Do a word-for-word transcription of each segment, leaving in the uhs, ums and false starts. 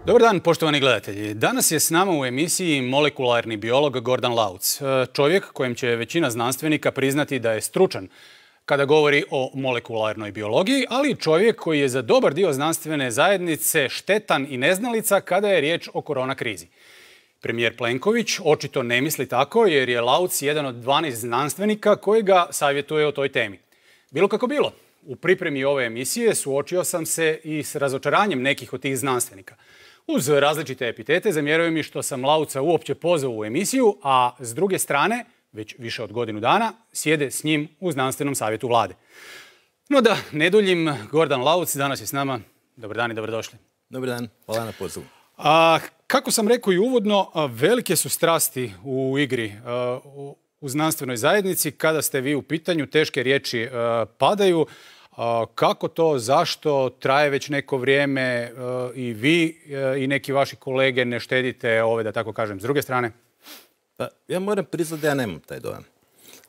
Dobar dan, poštovani gledatelji. Danas je s nama u emisiji molekularni biolog Gordan Lauc. Čovjek kojem će većina znanstvenika priznati da je stručan kada govori o molekularnoj biologiji, ali čovjek koji je za dobar dio znanstvene zajednice štetan i neznalica kada je riječ o korona krizi. Premijer Plenković očito ne misli tako jer je Lauc jedan od dvanaest znanstvenika koji ga savjetuje o toj temi. Bilo kako bilo, u pripremi ove emisije suočio sam se i s razočaranjem nekih od tih znanstvenika. Uz različite epitete zamjeruju mi što sam Lauca uopće pozvao u emisiju, a s druge strane, već više od godinu dana, sjede s njim u znanstvenom savjetu vlade. No da, ne duljim, Gordan Lauc danas je s nama. Dobar dan i dobrodošli. Dobar dan, hvala na pozivu. A, kako sam rekao i uvodno, velike su strasti u igri a, u, u znanstvenoj zajednici. Kada ste vi u pitanju, teške riječi a, padaju. A, kako to, zašto, traje već neko vrijeme a, i vi a, i neki vaši kolege ne štedite ove, da tako kažem, s druge strane? Pa, ja moram priznati da ja nemam taj dojam.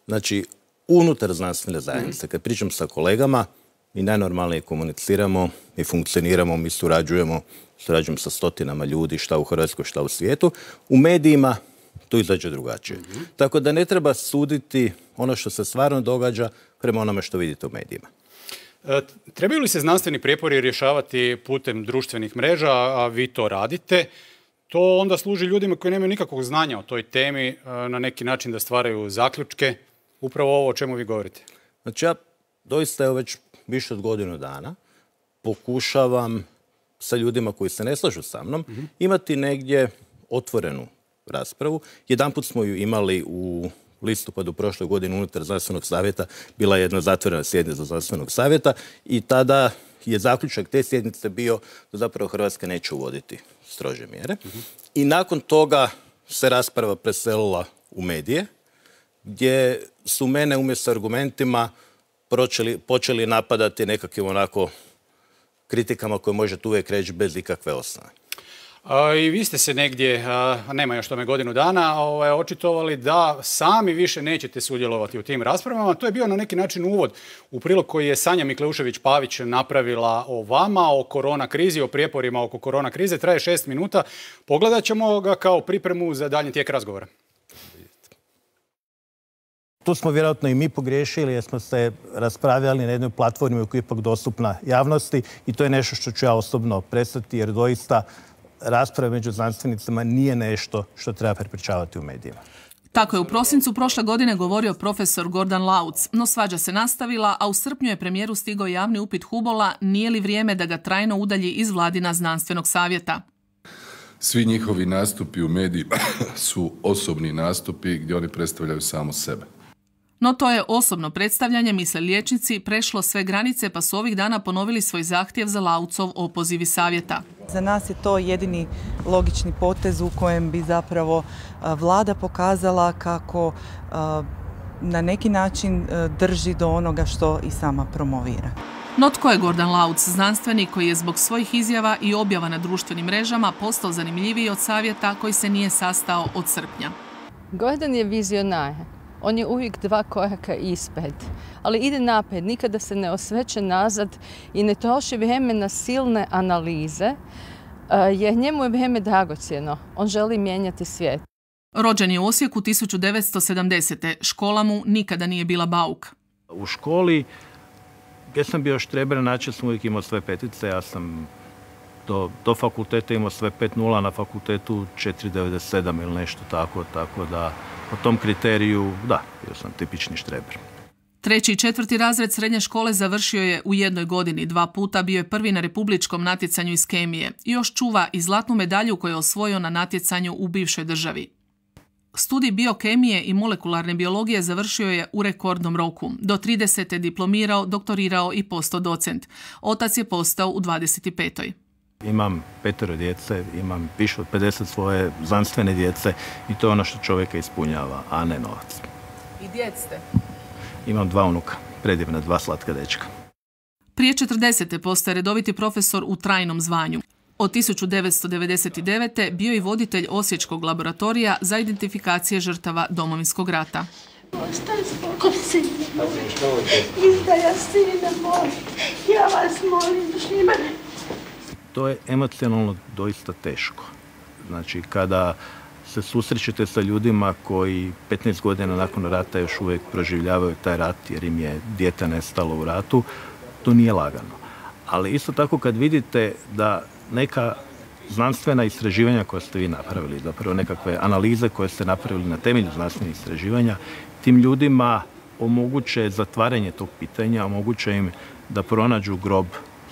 Znači, unutar znanstvene zajednice, mm-hmm. kad pričam sa kolegama, mi najnormalnije komuniciramo, mi funkcioniramo, mi surađujemo, surađujemo sa stotinama ljudi, šta u Hrvatskoj, šta u svijetu. U medijima to izađe drugačije. Mm-hmm. Tako da ne treba suditi ono što se stvarno događa prema onome što vidite u medijima. E, trebaju li se znanstveni prijepori rješavati putem društvenih mreža, a vi to radite? To onda služi ljudima koji nemaju nikakvog znanja o toj temi na neki način da stvaraju zaključke. Upravo ovo o čemu vi govorite. Znači ja doista evo već više od godinu dana pokušavam sa ljudima koji se ne slažu sa mnom mm-hmm. imati negdje otvorenu raspravu. Jedanput smo ju imali u listopadu prošle godine unutar znanstvenog savjeta. Bila je jedna zatvorena sjednica znanstvenog savjeta i tada je zaključak te sjednice bio da zapravo Hrvatska neće uvoditi strože mjere. Mm-hmm. I nakon toga se rasprava preselila u medije, gdje su mene umjesto argumentima počeli, počeli napadati nekakvim onako kritikama koje možete uvijek reći bez ikakve osnove. A, I vi ste se negdje, a, nema još tome godinu dana, ovaj, očitovali da sami više nećete sudjelovati u tim raspravama. To je bio na neki način uvod u prilog koji je Sanja Mikleušević-Pavić napravila o vama, o korona krizi, o prijeporima oko korona krize. Traje šest minuta. Pogledat ćemo ga kao pripremu za daljnji tijek razgovora. Tu smo vjerojatno i mi pogriješili jer smo se raspravljali na jednoj platformi koja je ipak dostupna javnosti i to je nešto što ću ja osobno prestati jer doista rasprave među znanstvenicama nije nešto što treba prepričavati u medijima. Tako je u prosincu prošle godine govorio profesor Gordan Lauc, no svađa se nastavila, a u srpnju je premijeru stigao javni upit Hubola nije li vrijeme da ga trajno udalji iz vladina znanstvenog savjeta. Svi njihovi nastupi u medijima su osobni nastupi gdje oni predstavljaju samo sebe. No to je osobno predstavljanje, misle liječnici, prešlo sve granice pa su ovih dana ponovili svoj zahtjev za Laucov opoziv iz savjeta. Za nas je to jedini logični potez u kojem bi zapravo vlada pokazala kako na neki način drži do onoga što i sama promovira. No tko je Gordan Lauc, znanstvenik koji je zbog svojih izjava i objava na društvenim mrežama postao zanimljiviji od savjeta koji se nije sastao od srpnja? Gordan je vizionar. On je uvijek dva koraka ispred, ali ide naprijed, nikada se ne osveće nazad i ne troši vrijeme na silne analize, jer njemu je vrijeme dragocjeno. On želi mijenjati svijet. Rođen je u Osijeku tisuću devetsto sedamdesete. Škola mu nikada nije bila bauk. U školi, gdje sam bio štreber, način sam uvijek imao sve petice. Ja sam do, do fakulteta imao sve pet nula, na fakultetu četiri devedeset sedam ili nešto tako, tako da po tom kriteriju, da, bio sam tipični štreber. Treći i četvrti razred srednje škole završio je u jednoj godini. Dva puta bio je prvi na republičkom natjecanju iz kemije. I još čuva i zlatnu medalju koju je osvojio na natjecanju u bivšoj državi. Studij biokemije i molekularne biologije završio je u rekordnom roku. Do tridesete diplomirao, doktorirao i postao docent. Otac je postao u dvadeset petoj. Imam petero djece, imam više od pedeset svoje znanstvene djece i to je ono što čovjeka ispunjava, a ne novac. I djed ste? Imam dva unuka, predivna, dva slatka dečka. Prije četrdesete postaje redoviti profesor u trajnom zvanju. Od tisuću devetsto devedeset devete bio i voditelj Osječkog laboratorija za identifikacije žrtava Domovinskog rata. Ostaje spokoj, sine moj. Izdaja sine moj. Ja vas molim, Šimane. to je emocionalno doista teško. Znači, kada se susrećete sa ljudima koji petnaest godina nakon rata još uvijek proživljavaju taj rat jer im je dijete nestalo u ratu, to nije lagano. Ali isto tako kad vidite da neka znanstvena istraživanja koja ste vi napravili, zapravo nekakve analize koje ste napravili na temelju znanstvenih istraživanja, tim ljudima omoguće zatvaranje tog pitanja, omoguće im da pronađu grob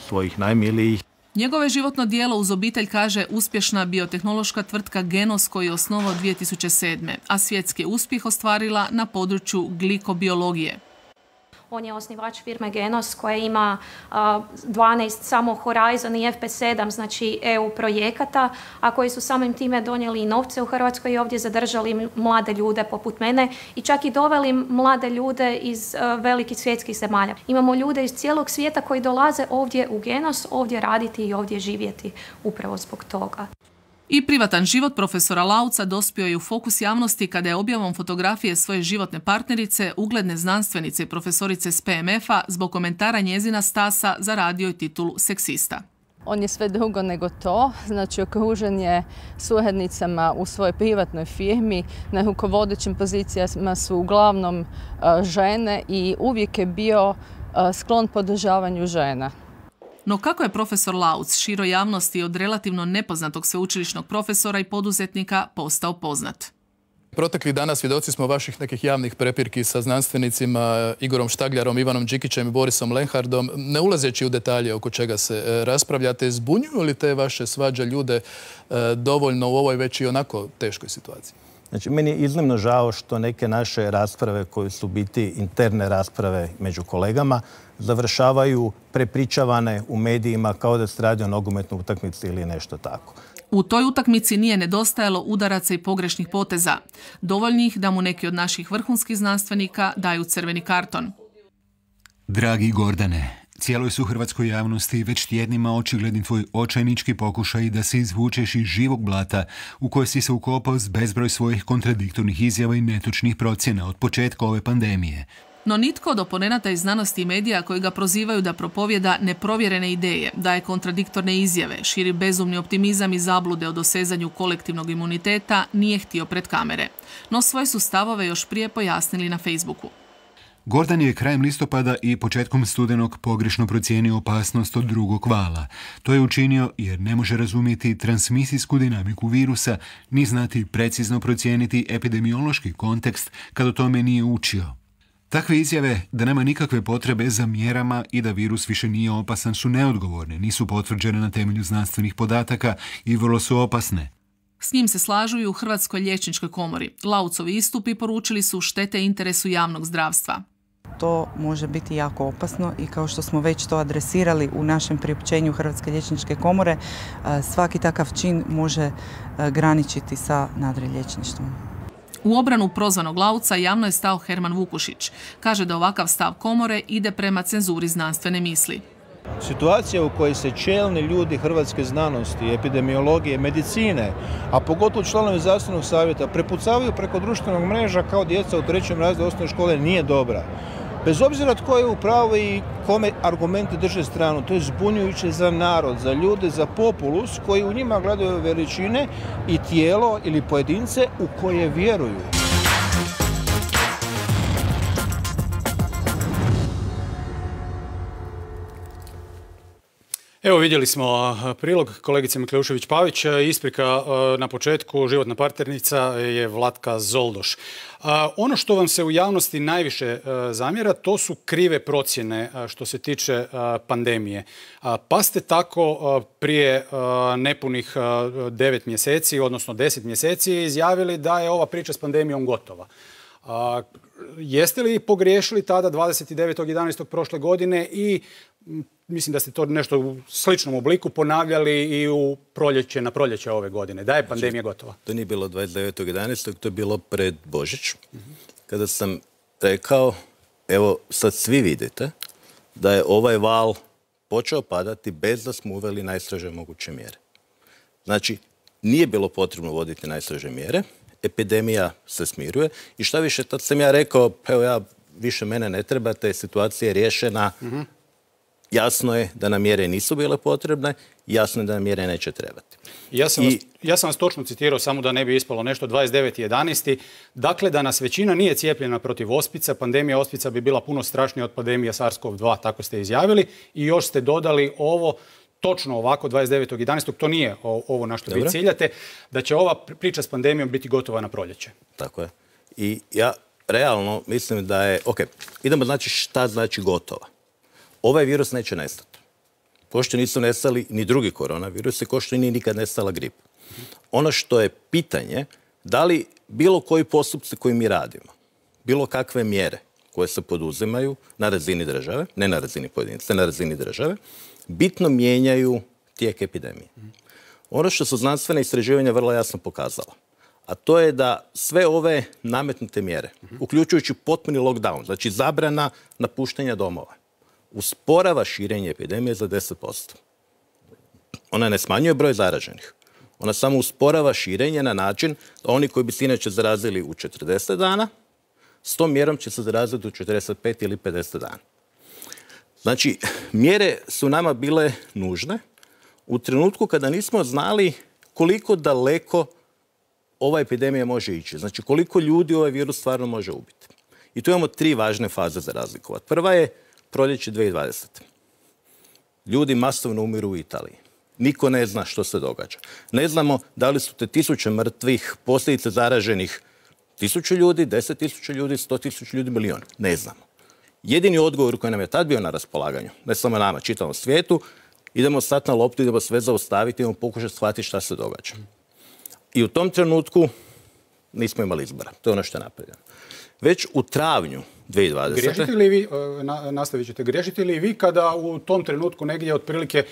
svojih najmilijih. Njegovo je životno djelo uz obitelj, kaže, uspješna biotehnološka tvrtka Genos koju je osnovao dvije tisuće sedme. a svjetski uspjeh ostvarila na području glikobiologije. On je osnivač firme Genos koja ima dvanaest samo Horizon i F P sedam, znači E U projekata, a koji su samim time donijeli i novce u Hrvatskoj i ovdje zadržali mlade ljude poput mene i čak i doveli mlade ljude iz velikih svjetskih zemalja. Imamo ljude iz cijelog svijeta koji dolaze ovdje u Genos, ovdje raditi i ovdje živjeti upravo zbog toga. I privatan život profesora Lauca dospio je u fokus javnosti kada je objavom fotografije svoje životne partnerice, ugledne znanstvenice i profesorice s P M F-a, zbog komentara njezina Stasa zaradio i titulu seksista. On je sve drugo nego to, znači okružen je suradnicama u svojoj privatnoj firmi, na rukovodećim pozicijama su uglavnom žene i uvijek je bio sklon podržavanju žena. No kako je profesor Lauc široj javnosti od relativno nepoznatog sveučilišnog profesora i poduzetnika postao poznat? Proteklih dana svjedoci smo vaših nekih javnih prepirki sa znanstvenicima Igorom Štagljarom, Ivanom Đikićem i Borisom Lenhardom. Ne ulazeći u detalje oko čega se raspravljate, zbunjuju li te vaše svađe ljude dovoljno u ovoj već i onako teškoj situaciji? Znači, meni je iznimno žao što neke naše rasprave koje su biti interne rasprave među kolegama završavaju prepričavane u medijima kao da se radi o nogometnoj utakmici ili nešto tako. U toj utakmici nije nedostajalo udaraca i pogrešnih poteza, dovoljnih da mu neki od naših vrhunskih znanstvenika daju crveni karton. Dragi Gordane, cijeloj su hrvatskoj javnosti već tjednima očigledni tvoj očajnički pokušaj da se izvučeš iz živog blata u koje si se ukopao s bezbroj svojih kontradiktornih izjava i netočnih procjena od početka ove pandemije. No nitko od oponenata iz znanosti i medija koji ga prozivaju da propovjeda neprovjerene ideje, daje kontradiktorne izjave, širi bezumni optimizam i zablude o dosezanju kolektivnog imuniteta nije htio pred kamere. No svoje su stavove još prije pojasnili na Facebooku. Gordan je krajem listopada i početkom studenog pogrešno procijenio opasnost od drugog vala. To je učinio jer ne može razumjeti transmisijsku dinamiku virusa ni znati precizno procijeniti epidemiološki kontekst kad o tome nije učio. Takve izjave da nema nikakve potrebe za mjerama i da virus više nije opasan su neodgovorne, nisu potvrđene na temelju znanstvenih podataka i vrlo su opasne. S njim se slažu i u Hrvatskoj liječničkoj komori. Laucovi istupi poručili su štete interesu javnog zdravstva. To može biti jako opasno i kao što smo već to adresirali u našem priopćenju Hrvatske liječničke komore, svaki takav čin može graničiti sa nadriliječništvom. U obranu prozvanog Lauca javno je stao Herman Vukušić. Kaže da ovakav stav komore ide prema cenzuri znanstvene misli. Situacija u kojoj se čelni ljudi hrvatske znanosti, epidemiologije, medicine, a pogotovo članovi zdravstvenog savjeta prepucavaju preko društvenog mreža kao djeca u trećem razredu osnovne škole nije dobra. Bez obzira tko je u pravu i kome argumente drže stranu, to je zbunjujuće za narod, za ljude, za populus koji u njima gledaju veličine i tijelo ili pojedince u koje vjeruju. Evo vidjeli smo prilog kolegice Mikleušević-Pavić. Isprika na početku, životna partnernica je Vlatka Zoldoš. Ono što vam se u javnosti najviše zamjera, to su krive procjene što se tiče pandemije. Pa ste tako prije nepunih devet mjeseci, odnosno deset mjeseci, izjavili da je ova priča s pandemijom gotova. Jeste li pogriješili tada dvadeset devetog jedanaestog prošle godine i mislim da ste to nešto u sličnom obliku ponavljali i u proljeće, na proljeće ove godine, da je pandemija gotova? To nije bilo dvadeset devetog jedanaestog to je bilo pred Božić, kada sam rekao, evo sad svi vidite da je ovaj val počeo padati bez da smo uveli najstrože moguće mjere. Znači, nije bilo potrebno voditi najstrože mjere, epidemija se smiruje i šta više, tad sam ja rekao, evo ja, više mene ne trebate, situacija je riješena, jasno je da nam mjere nisu bile potrebne, jasno je da nam mjere neće trebati. Ja sam, I... vas, ja sam vas točno citirao, samo da ne bi ispalo nešto, dvadeset deveti jedanaesti Dakle, da nas većina nije cijepljena protiv ospica, pandemija ospica bi bila puno strašnija od pandemije SARS-CoV dva, tako ste izjavili. I još ste dodali ovo, točno ovako, dvadeset devetog jedanaestog To nije ovo na što vi ciljate, da će ova priča s pandemijom biti gotova na proljeće. Tako je. I ja realno mislim da je... Ok, idemo znači šta znači gotova. Ovaj virus neće nestati. Ko što nisu nestali ni drugi koronavirusi, ko što nije nikad nestala grip. Ono što je pitanje, da li bilo koji postupci koji mi radimo, bilo kakve mjere koje se poduzimaju na razini države, ne na razini pojedinca, na razini države, bitno mijenjaju tijek epidemije. Ono što su znanstvene istraživanja vrlo jasno pokazala, a to je da sve ove nametnute mjere, uključujući potpuni lockdown, znači zabrana napuštanja domova, usporava širenje epidemije za deset posto. Ona ne smanjuje broj zaraženih. Ona samo usporava širenje na način da oni koji bi se inače zarazili u četrdeset dana, s tom mjerom će se zaraziti u četrdeset pet ili pedeset dana. Znači, mjere su nama bile nužne u trenutku kada nismo znali koliko daleko ova epidemija može ići. Znači, koliko ljudi ovaj virus stvarno može ubiti. I tu imamo tri važne faze za razlikovati. Prva je proljeće dvije tisuće dvadesete Ljudi masovno umiru u Italiji. Niko ne zna što se događa. Ne znamo da li su te tisuće mrtvih, posljedice zaraženih tisuću ljudi, deset tisuća ljudi, sto tisuća ljudi, milijon. Ne znamo. Jedini odgovor koji nam je tad bio na raspolaganju, ne samo nama, čitavom svijetu, idemo stati na loptu, idemo sve zaustaviti, idemo pokušati shvatiti šta se događa. I u tom trenutku nismo imali izbora. To je ono što je napravljeno. Već u travnju dvije tisuće dvadesete Griješite li vi, nastavit ćete, griješite li vi kada u tom trenutku negdje otprilike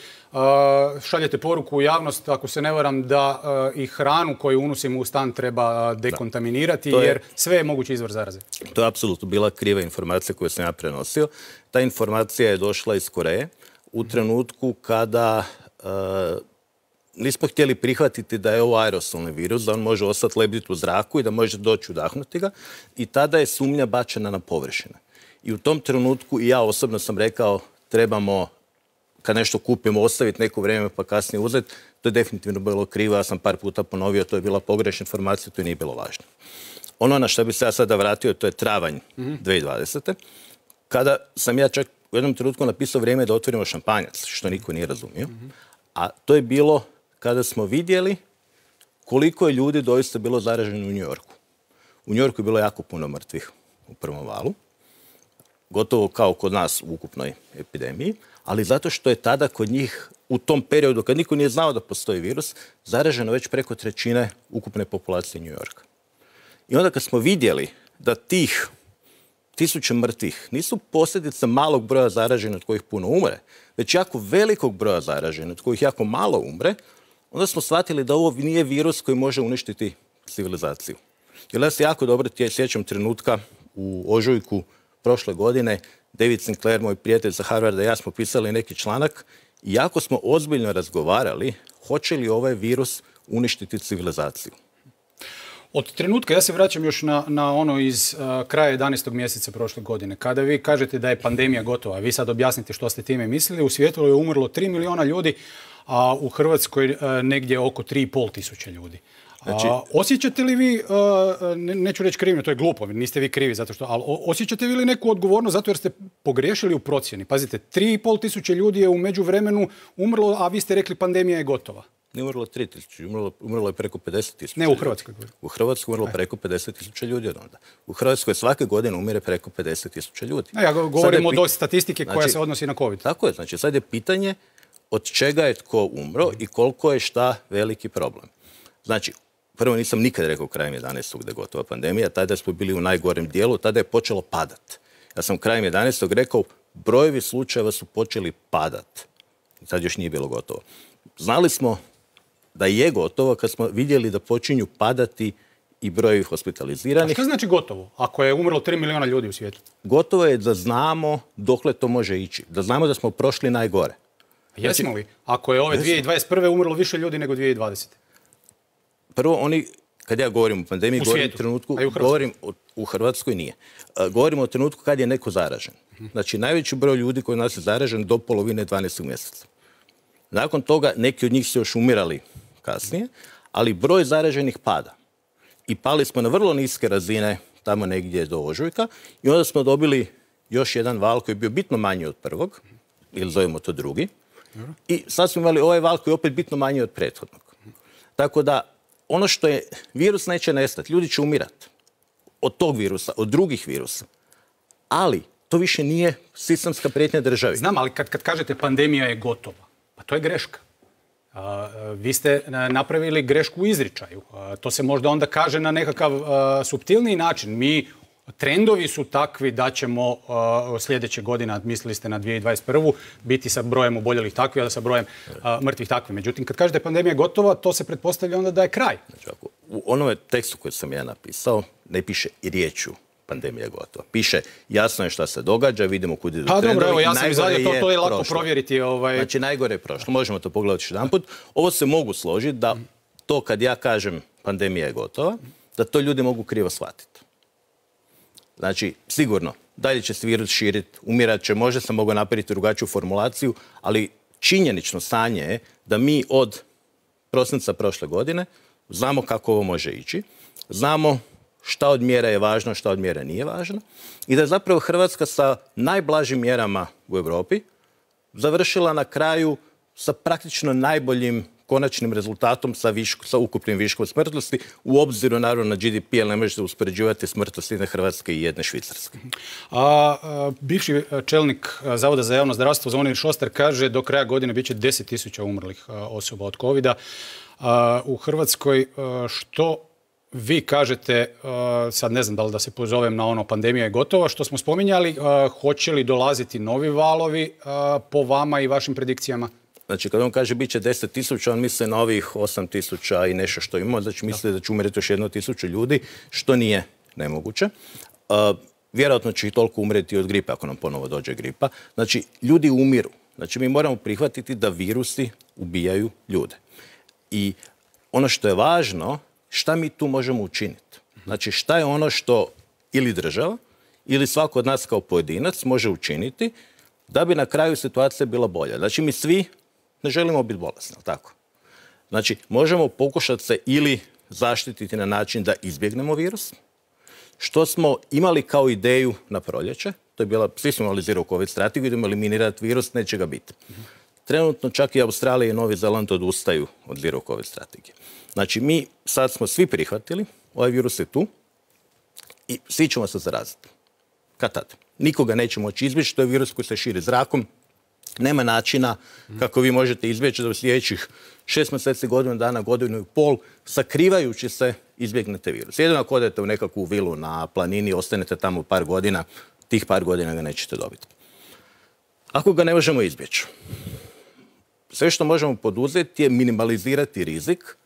šaljete poruku u javnost, ako se ne varam, da i hranu koju unosimo u stan treba dekontaminirati, je, jer sve je mogući izvor zaraze? To je apsolutno bila kriva informacija koju sam ja prenosio. Ta informacija je došla iz Koreje u trenutku kada nismo htjeli prihvatiti da je ovo aerosolni virus, da on može ostati lebditi u zraku i da može doći udahnuti ga. I tada je sumnja bačena na površine. I u tom trenutku i ja osobno sam rekao trebamo, kad nešto kupimo, ostaviti neko vrijeme pa kasnije uzeti. To je definitivno bilo krivo. Ja sam par puta ponovio, to je bila pogrešna informacija, to nije bilo važno. Ono na što bi se ja sada vratio, to je travanj dvije tisuće dvadesete Kada sam ja čak u jednom trenutku napisao vrijeme da otvorimo šampanjac, što niko nije razumio. A to je bilo kada smo vidjeli koliko je ljudi doista bilo zaraženo u New Yorku. U New Yorku je bilo jako puno mrtvih u prvom valu, gotovo kao kod nas u ukupnoj epidemiji, ali zato što je tada kod njih u tom periodu, kad niko nije znao da postoji virus, zaraženo već preko trećine ukupne populacije New Yorka. I onda kad smo vidjeli da tih tisuće mrtvih nisu posljedica malog broja zaraženih od kojih puno umre, već jako velikog broja zaraženih od kojih jako malo umre, onda smo shvatili da ovo nije virus koji može uništiti civilizaciju. Jer ja se jako dobro sjećam trenutka u ožujku prošle godine, David Sinclair, moj prijatelj sa Harvarda i ja smo pisali neki članak i jako smo ozbiljno razgovarali hoće li ovaj virus uništiti civilizaciju. Od trenutka, ja se vraćam još na, na ono iz uh, kraja jedanaestog mjeseca prošle godine, kada vi kažete da je pandemija gotova, vi sad objasnite što ste time mislili, u svijetu je umrlo tri milijuna ljudi, a u Hrvatskoj uh, negdje oko tri i pol tisuće ljudi. Znači, a, osjećate li vi, uh, ne, neću reći krivnju, to je glupo, niste vi krivi zato što, ali osjećate li neku odgovornost zato jer ste pogriješili u procjeni? Pazite, tri i pol tisuće ljudi je u međuvremenu umrlo, a vi ste rekli pandemija je gotova. Ne umrlo tri tisuće, umrlo, umrlo je preko pedeset tisuća. Ne u Hrvatskoj. U Hrvatskoj umrlo preko pedeset tisuća ljudi od onda. U Hrvatskoj svake godine umire preko pedeset tisuća ljudi. Ne, ja govorim od statistike koja znači, se odnosi na COVID. Tako je, znači sad je pitanje od čega je tko umro i koliko je šta veliki problem. Znači, prvo nisam nikad rekao krajem jedanaestog da je gotova pandemija, tada smo bili u najgorem dijelu, tada je počelo padat. Ja sam krajem jedanaestog rekao, brojevi slučajeva su počeli padat. I sad još nije bilo gotovo. Znali smo da je gotovo kad smo vidjeli da počinju padati i brojevi hospitaliziranih. A što znači gotovo, ako je umrlo tri milijuna ljudi u svijetu? Gotovo je da znamo dokle to može ići. Da znamo da smo prošli najgore. A jesmo znači, li? Ako je ove dvije tisuće dvadeset prve umrlo više ljudi nego dvije tisuće dvadesete Prvo, oni kad ja govorim o pandemiji, u govorim o trenutku, u govorim o, u Hrvatskoj nije. Uh, govorim o trenutku kad je neko zaražen. Znači, najveći broj ljudi koji nas je zaražen do polovine dvanaestog mjeseca. Nakon toga, neki od njih su još umirali kasnije, ali broj zaraženih pada. I pali smo na vrlo niske razine, tamo negdje do ožujka, i onda smo dobili još jedan val koji je bio bitno manji od prvog, ili zovemo to drugi, i sad smo imali ovaj val koji je opet bitno manji od prethodnog. Tako da, ono što je, virus neće nestati, ljudi će umirati od tog virusa, od drugih virusa, ali to više nije sistemska prijetnja državi. Znam, ali kad, kad kažete pandemija je gotova, pa to je greška. Uh, vi ste napravili grešku u izričaju. Uh, to se možda onda kaže na nekakav uh, suptilniji način. Mi, trendovi su takvi da ćemo uh, sljedeće godine, mislili ste na dvije tisuće dvadeset prvu, biti sa brojem oboljelih takvi, a sa brojem uh, mrtvih takvi. Međutim, kad kažete pandemija je gotova, to se pretpostavlja onda da je kraj. Znači, ako, u onome tekstu koji sam ja napisao ne piše i riječju pandemija je gotova. Piše, jasno je šta se događa, vidimo kud idu trendovi. Pa dobro, evo, ja sam izvadio, to, to je lako prošlo. provjeriti. Ovaj... Znači, najgore je prošlo. Možemo to pogledati još jedan put. Ovo se mogu složiti da to kad ja kažem pandemija je gotova, da to ljudi mogu krivo shvatiti. Znači, sigurno, dalje će se virus širiti, umirat će, možda sam mogao napraviti drugačiju formulaciju, ali činjenično stanje je da mi od prosinca prošle godine znamo kako ovo može ići, znamo šta od mjera je važno, šta od mjera nije važno i da je zapravo Hrvatska sa najblažim mjerama u Europi završila na kraju sa praktično najboljim konačnim rezultatom sa, viško, sa ukupnim viškom smrtnosti, u obziru naravno na G D P, ali ne možete uspoređivati smrtnost jedne Hrvatske i jedne Švicarske. A, a, bivši čelnik Zavoda za javno zdravstvo Zvonimir Šostar kaže do kraja godine bit će deset tisuća umrlih a, osoba od kovida. A, u Hrvatskoj a, što vi kažete, a, sad ne znam da li da se pozovem na ono pandemija je gotova, što smo spominjali, a, hoće li dolaziti novi valovi a, po vama i vašim predikcijama? Znači, kad on kaže bit će deset tisuća, on misli na ovih osam tisuća i nešto što imamo, znači misli da će umreti još jedno tisuću ljudi, što nije nemoguće. Uh, vjerojatno će i toliko umreti od gripe, ako nam ponovo dođe gripa. Znači, ljudi umiru. Znači, mi moramo prihvatiti da virusi ubijaju ljude. I ono što je važno, šta mi tu možemo učiniti? Znači, šta je ono što ili država, ili svako od nas kao pojedinac može učiniti da bi na kraju situacija bila bolja. Znači, mi svi ne želimo biti bolesni, tako? Znači, možemo pokušati se ili zaštititi na način da izbjegnemo virus, što smo imali kao ideju na proljeće, to je bila, svi smo imali zero covid strategiju, idemo eliminirati virus, neće ga biti. Trenutno čak i Australija i Novi Zeland odustaju od zero covid strategije. Znači, mi sad smo svi prihvatili, ovaj virus je tu i svi ćemo se zaraziti. Kad tad? Nikoga neće moći izbjeći, to je virus koji se širi zrakom. Nema načina kako vi možete izbjeći da u sljedećih šest mjeseci, godinu dana, godinu i pol, sakrivajući se, izbjegnete virus. Jedino ako odete u nekakvu vilu na planini, ostanete tamo par godina, tih par godina ga nećete dobiti. Ako ga ne možemo izbjeći, sve što možemo poduzeti je minimalizirati rizik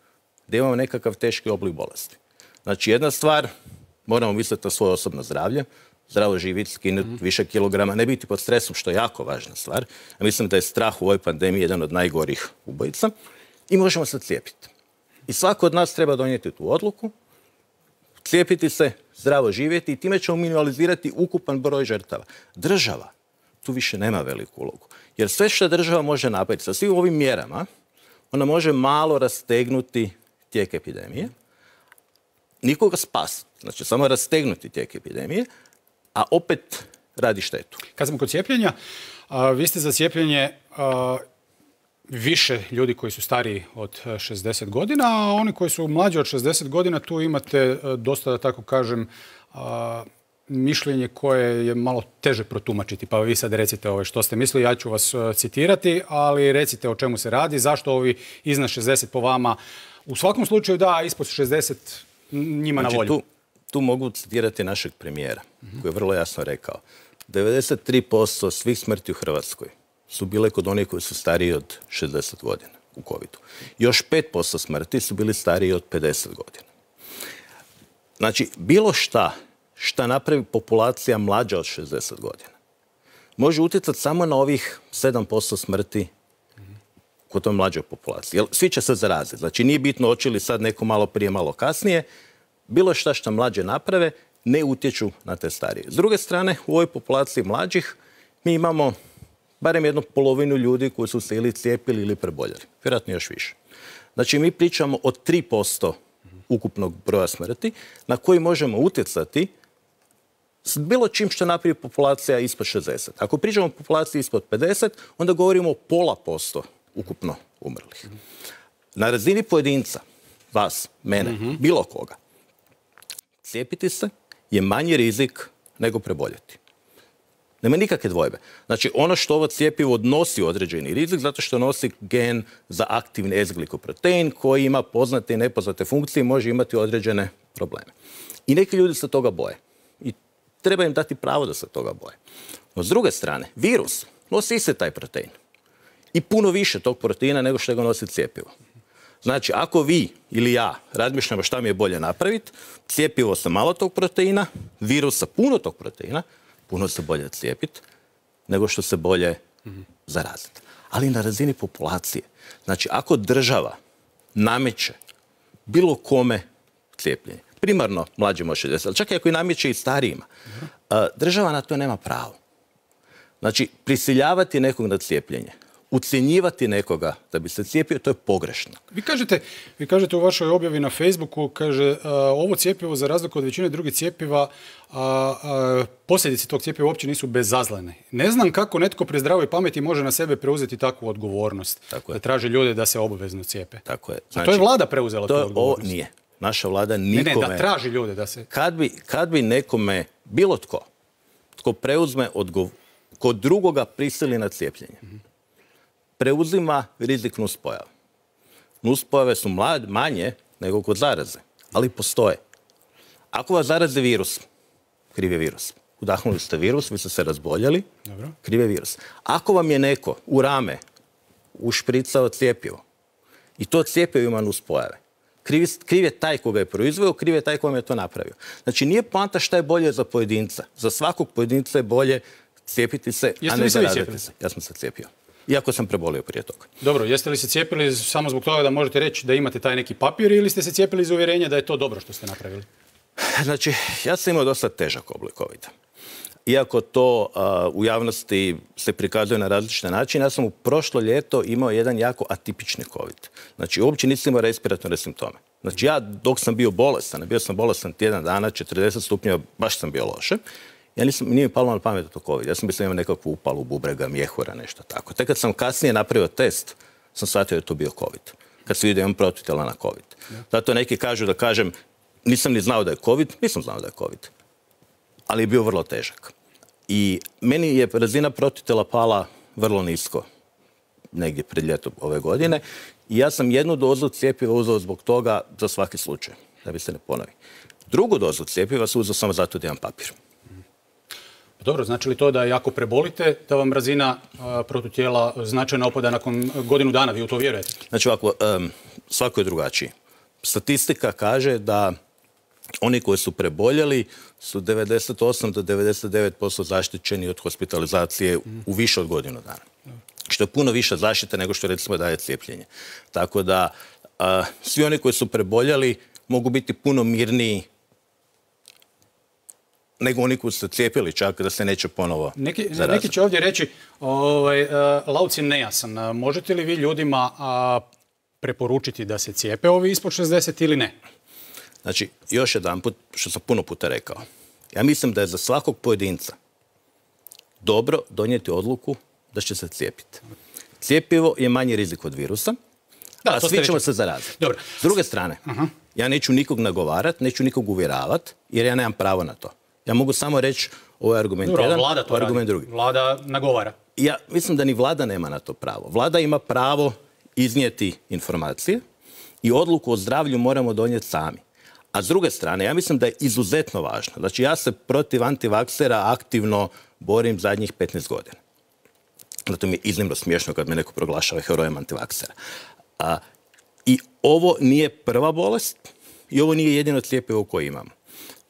da imamo nekakav teški oblik bolesti. Znači, jedna stvar, moramo misliti na svoje osobno zdravlje, zdravo živjeti, skinuti mm-hmm. više kilograma, ne biti pod stresom, što je jako važna stvar. Ja mislim da je strah u ovoj pandemiji jedan od najgorih ubojica i možemo se cijepiti. I svako od nas treba donijeti tu odluku, cijepiti se, zdravo živjeti i time ćemo minimalizirati ukupan broj žrtava. Država tu više nema veliku ulogu. Jer sve što država može napraviti sa svim ovim mjerama, ona može malo rastegnuti tijek epidemije, nikoga spasiti, znači samo rastegnuti tijek epidemije, a opet radi štetu. Kad smo kod cijepljenja, a, vi ste za cijepljenje a, više ljudi koji su stariji od šezdeset godina, a oni koji su mlađi od šezdeset godina, tu imate a, dosta, da tako kažem, a, mišljenje koje je malo teže protumačiti. Pa vi sad recite ovaj, što ste mislili, ja ću vas a, citirati, ali recite o čemu se radi, zašto ovi iznad šezdeset po vama, u svakom slučaju da, ispod šezdeset njima znači, na volju. Tu... Tu mogu citirati našeg premijera, mm-hmm. koji je vrlo jasno rekao. devedeset tri posto svih smrti u Hrvatskoj su bile kod onih koji su stariji od šezdeset godina u covidu. Još pet posto smrti su bili stariji od pedeset godina. Znači, bilo šta, šta napravi populacija mlađa od šezdeset godina, može utjecati samo na ovih sedam posto smrti kod toj mlađoj populaciji. Jer svi će se zaraziti. Znači nije bitno hoće li sad neko malo prije, malo kasnije. Bilo šta što mlađe naprave ne utječu na te starije. S druge strane, u ovoj populaciji mlađih mi imamo barem jednu polovinu ljudi koji su se ili cijepili ili preboljeli. Vjerojatno još više. Znači mi pričamo o tri posto ukupnog broja smrti na koji možemo utjecati s bilo čim što napravi populacija ispod šezdeset. Ako pričamo o populaciji ispod pedeset, onda govorimo o pola posto ukupno umrlih. Na razini pojedinca, vas, mene, mm-hmm. bilo koga, cijepiti se je manji rizik nego preboljeti. Nema nikakve dvojbe. Znači, ono što ovo cjepivo nosi određeni rizik, zato što nosi gen za aktivni S-glikoprotein koji ima poznate i nepoznate funkcije i može imati određene probleme. I neki ljudi se toga boje. I treba im dati pravo da se toga boje. No, s druge strane, virus nosi isti taj protein. I puno više tog proteina nego što ga nosi cjepivo. Znači, ako vi ili ja razmišljamo šta mi je bolje napraviti, cjepivo sa malo tog proteina, virus sa puno tog proteina, puno se bolje cijepiti nego što se bolje mm-hmm. zaraziti. Ali na razini populacije. Znači, ako država nameće bilo kome cijepljenje, primarno mlađima od šezdeset, ali čak i ako i nameće i starijima, mm-hmm. država na to nema pravo. Znači, prisiljavati nekog na cijepljenje, ucjenjivati nekoga da bi se cijepio, to je pogrešno. Vi kažete, vi kažete u vašoj objavi na Facebooku, kaže, a, ovo cjepivo za razliku od većine drugih cjepiva, a, a, posljedice tog cjepiva uopće nisu bezazlene. Ne znam kako netko pri zdravoj pameti može na sebe preuzeti takvu odgovornost. Tako da traži ljude da se obavezno cijepe. Tako je. Znači, to je vlada preuzela to tu odgovornost. Ovo nije. Naša vlada nikome... Ne, ne, da traži ljude da se... Kad bi, kad bi nekome, bilo tko, tko preuzme odgovor, kod drugoga prisili na cijepljenje, mm-hmm. preuzima rizik nuspojava. Nuspojave su mlad, manje nego kod zaraze, ali postoje. Ako vas zaraze virus, kriv je virus. Udahnuli ste virus, vi ste se razboljeli, Dobro. kriv je virus. Ako vam je neko u rame ušpricao cjepivo i to cjepivo ima nuspojave, kriv, kriv je taj koga je proizveo, kriv je taj koga je to napravio. Znači nije poanta šta je bolje za pojedinca. Za svakog pojedinca je bolje cijepiti se, Jeste a ne se zaraziti se. Ja sam se cijepio. Iako sam prebolio prije toga. Dobro, jeste li se cijepili samo zbog toga da možete reći da imate taj neki papir ili ste se cijepili iz uvjerenja da je to dobro što ste napravili? Znači, ja sam imao dosta težak oblik covida. Iako to uh, u javnosti se prikazuje na različite načine, ja sam u prošlo ljeto imao jedan jako atipični covid. Znači, uopće nisam imao respiratorne simptome. Znači, ja dok sam bio bolestan, bio sam bolestan tjedan dana, četrdeset stupnjeva, baš sam bio loše. Ja nisam, nije mi palo na pamet da to covid. Ja sam mislio imao nekakvu upalu bubrega, mjehura, nešto tako. Tek kad sam kasnije napravio test, sam shvatio da je to bio covid. Kad se vidio imam protitijela na covid. Zato neki kažu da kažem, nisam ni znao da je covid, nisam znao da je covid. Ali je bio vrlo težak. I meni je razina protitijela pala vrlo nisko, negdje pred ljetom ove godine. I ja sam jednu dozu cjepiva uzeo zbog toga za svaki slučaj, da bi se ne ponovi. Drugu dozu cjepiva sam uzeo samo zato da imam papir. Dobro, znači li to da jako prebolite, da vam razina a, protutijela značajno opada nakon godinu dana, vi u to vjerujete? Znači ovako, um, svako je drugačiji. Statistika kaže da oni koji su preboljeli su devedeset osam do devedeset devet posto zaštićeni od hospitalizacije mm. u više od godinu dana. Mm. Što je puno više zaštite nego što recimo daje cijepljenje. Tako da a, svi oni koji su preboljeli mogu biti puno mirniji nego oni koji su cijepili čak da se neće ponovo neki, zaraziti. Neki će ovdje reći, ovaj, uh, Lauc je nejasan. Uh, možete li vi ljudima uh, preporučiti da se cijepe ovi ispod šezdeset ili ne? Znači, još jedan put, što sam puno puta rekao, ja mislim da je za svakog pojedinca dobro donijeti odluku da će se cijepiti. Cijepivo je manji rizik od virusa, da, a svi ćemo se zaraziti. Dobro. S druge strane, uh-huh. ja neću nikog nagovarati, neću nikog uvjeravati, jer ja nemam pravo na to. Ja mogu samo reći, ovo je argument Dobro, jedan, vlada to argument radi. drugi. Vlada nagovara. Ja mislim da ni vlada nema na to pravo. Vlada ima pravo iznijeti informacije i odluku o zdravlju moramo donijeti sami. A s druge strane, ja mislim da je izuzetno važno. Znači, ja se protiv antivaksera aktivno borim zadnjih petnaest godina. Zato mi je iznimno smiješno kad me neko proglašava herojem antivaksera. A, I ovo nije prva bolest i ovo nije jedino cjepivo koje imamo.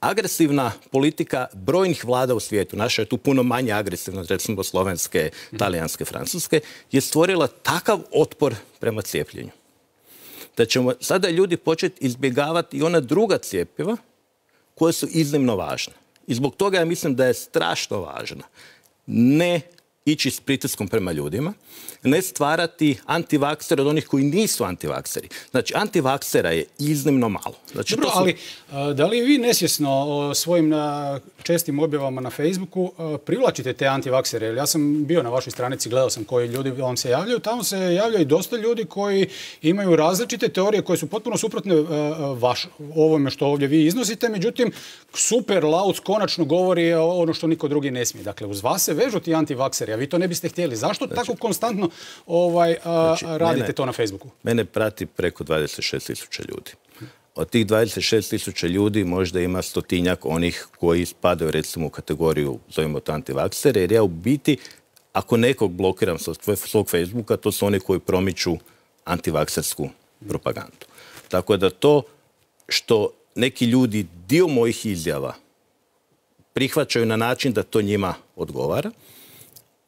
agresivna politika brojnih vlada u svijetu, naša je tu puno manje agresivna, recimo slovenske, talijanske, francuske, je stvorila takav otpor prema cijepljenju. Da ćemo sada ljudi početi izbjegavati i ona druga cjepiva koje su iznimno važne. I zbog toga ja mislim da je strašno važno ne ići s pritiskom prema ljudima, ne stvarati antivaksere od onih koji nisu antivakseri. Znači, antivaksera je iznimno malo. Znači, Dobro, su... ali da li vi nesvjesno svojim čestim objavama na Facebooku privlačite te antivaksere? Jer ja sam bio na vašoj stranici, gledao sam koji ljudi vam se javljaju. Tamo se javljaju i dosta ljudi koji imaju različite teorije koje su potpuno suprotne vaš, ovome što ovdje vi iznosite. Međutim, super Lauc konačno govori ono što niko drugi ne smije. Dakle, uz vas se vežu ti antivakseri, a vi to ne biste htjeli. Zašto znači, tako konstantno ovaj, a, znači, radite mene, to na Facebooku? Mene prati preko dvadeset šest tisuća ljudi. Od tih dvadeset šest tisuća ljudi možda ima stotinjak onih koji spadaju recimo u kategoriju, zovemo to antivaksere, jer ja u biti, ako nekog blokiram sa svog Facebooka, to su oni koji promiču antivaksersku propagandu. Tako da to što neki ljudi dio mojih izjava prihvaćaju na način da to njima odgovara,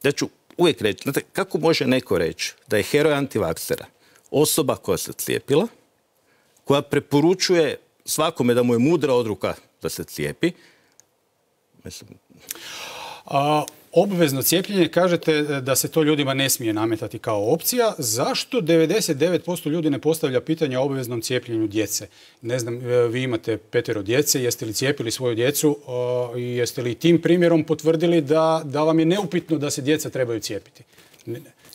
da ću uvijek reći, znate, kako može neko reći da je heroj antivaksera osoba koja se cijepila, koja preporučuje svakome da mu je mudra odluka da se cijepi? Mislim... A, obvezno cijepljenje, kažete da se to ljudima ne smije nametati kao opcija. Zašto devedeset devet posto ljudi ne postavlja pitanje o obveznom cijepljenju djece? Ne znam, vi imate petero djece, jeste li cijepili svoju djecu i jeste li tim primjerom potvrdili da, da vam je neupitno da se djeca trebaju cijepiti?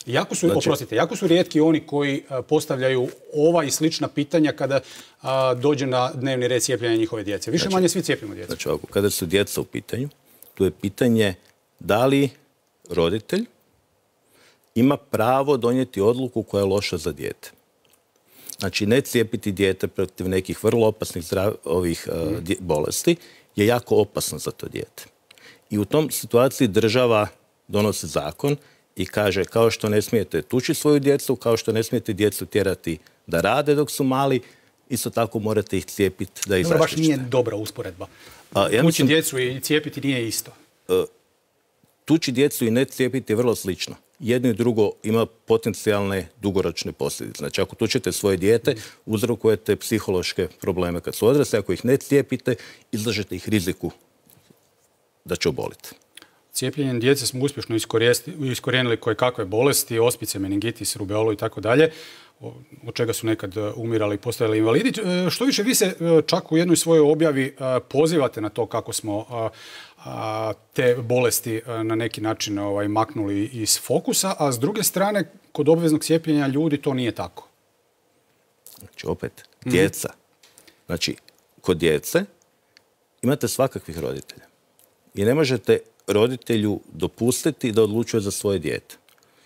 Jako su, znači, oprostite, jako su rijetki oni koji postavljaju ova i slična pitanja kada a, dođe na dnevni red cijepljenja njihove djece. Više znači, manje svi cijepimo djecu. Znači, ovako, kada su djeca u pitanju, tu je pitanje da li roditelj ima pravo donijeti odluku koja je loša za dijete. Znači, ne cijepiti dijete protiv nekih vrlo opasnih zdrav, ovih uh, dje, bolesti je jako opasno za to dijete. I u tom situaciji država donosi zakon i kaže kao što ne smijete tući svoju djecu, kao što ne smijete djecu tjerati da rade dok su mali, isto tako morate ih cijepiti da ih zaštićete. Baš nije dobra usporedba. A, ja tući djecu i cijepiti nije isto. Uh, tući djecu i ne cijepiti je vrlo slično. Jedno i drugo ima potencijalne dugoročne posljedice. Znači, ako tučete svoje dijete, uzrokujete psihološke probleme kad su odrasli. Ako ih ne cijepite, izlažete ih riziku da će oboliti. Cijepljenjem djece smo uspješno iskorijenili koje kakve bolesti, ospice, meningitis, rubeolu i tako dalje, od čega su nekad umirali i postajali invalidi. Što više, vi se čak u jednoj svojoj objavi pozivate na to kako smo te bolesti na neki način ovaj, maknuli iz fokusa, a s druge strane, kod obveznog cijepljenja ljudi to nije tako. Znači, opet, djeca. Znači, kod djece imate svakakvih roditelja. I ne možete roditelju dopustiti da odlučuje za svoje dijete.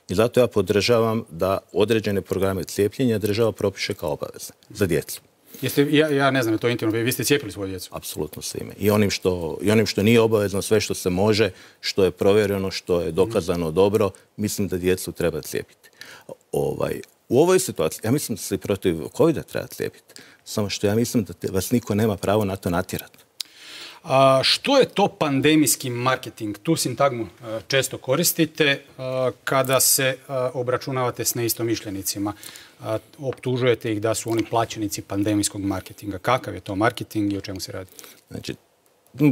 I zato ja podržavam da određene programe cijepljenja država propiše kao obavezne za djecu. Jeste, ja, ja ne znam, je to intimno, vi ste cijepili svoju djecu? Apsolutno svime. I onim što, i onim što nije obavezno, sve što se može, što je provjereno, što je dokazano dobro, mislim da djecu treba cijepiti. Ovaj, u ovoj situaciji, ja mislim da se protiv covida treba cijepiti. Samo što ja mislim da te, vas niko nema pravo na to natjerati. A, što je to pandemijski marketing? Tu sintagmu a, često koristite a, kada se a, obračunavate s neistomišljenicima. A, optužujete ih da su oni plaćenici pandemijskog marketinga. Kakav je to marketing i o čemu se radi? Znači,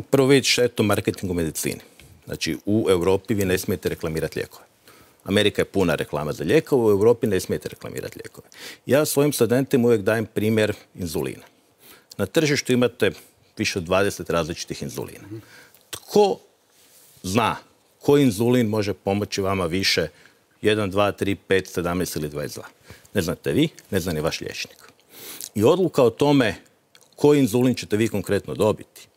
prvo vidjeti što je to marketing u medicini. Znači, u Europi vi ne smijete reklamirati lijekove. Amerika je puna reklama za lijekove, u Europi ne smijete reklamirati lijekove. Ja svojim studentima uvijek dajem primjer inzulina. Na tržištu imate više od dvadeset različitih inzulina. Tko zna koji inzulin može pomoći vama više jedan, dva, tri, pet, sedamnaest ili dvadeset dva? Ne znate vi, ne zna ni vaš liječnik. I odluka o tome koji inzulin ćete vi konkretno dobiti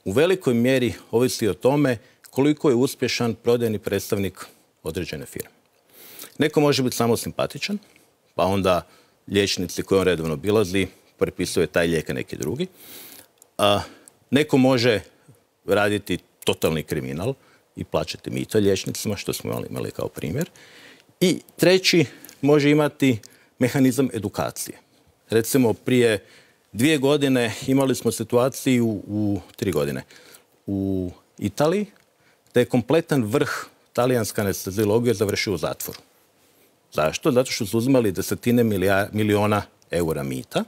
u velikoj mjeri ovisi o tome koliko je uspješan prodajni predstavnik određene firme. Neko može biti samo simpatičan, pa onda liječnici koji on redovno obilazi prepisuje taj lijek neki drugi. A, neko može raditi totalni kriminal i plaćati mito liječnicima, što smo imali kao primjer. I treći može imati mehanizam edukacije. Recimo, prije dvije godine imali smo situaciju u tri godine u Italiji, da je kompletan vrh talijanske anesteziologije završio u zatvoru. Zašto? Zato što su uzimali desetine miliona eura mita,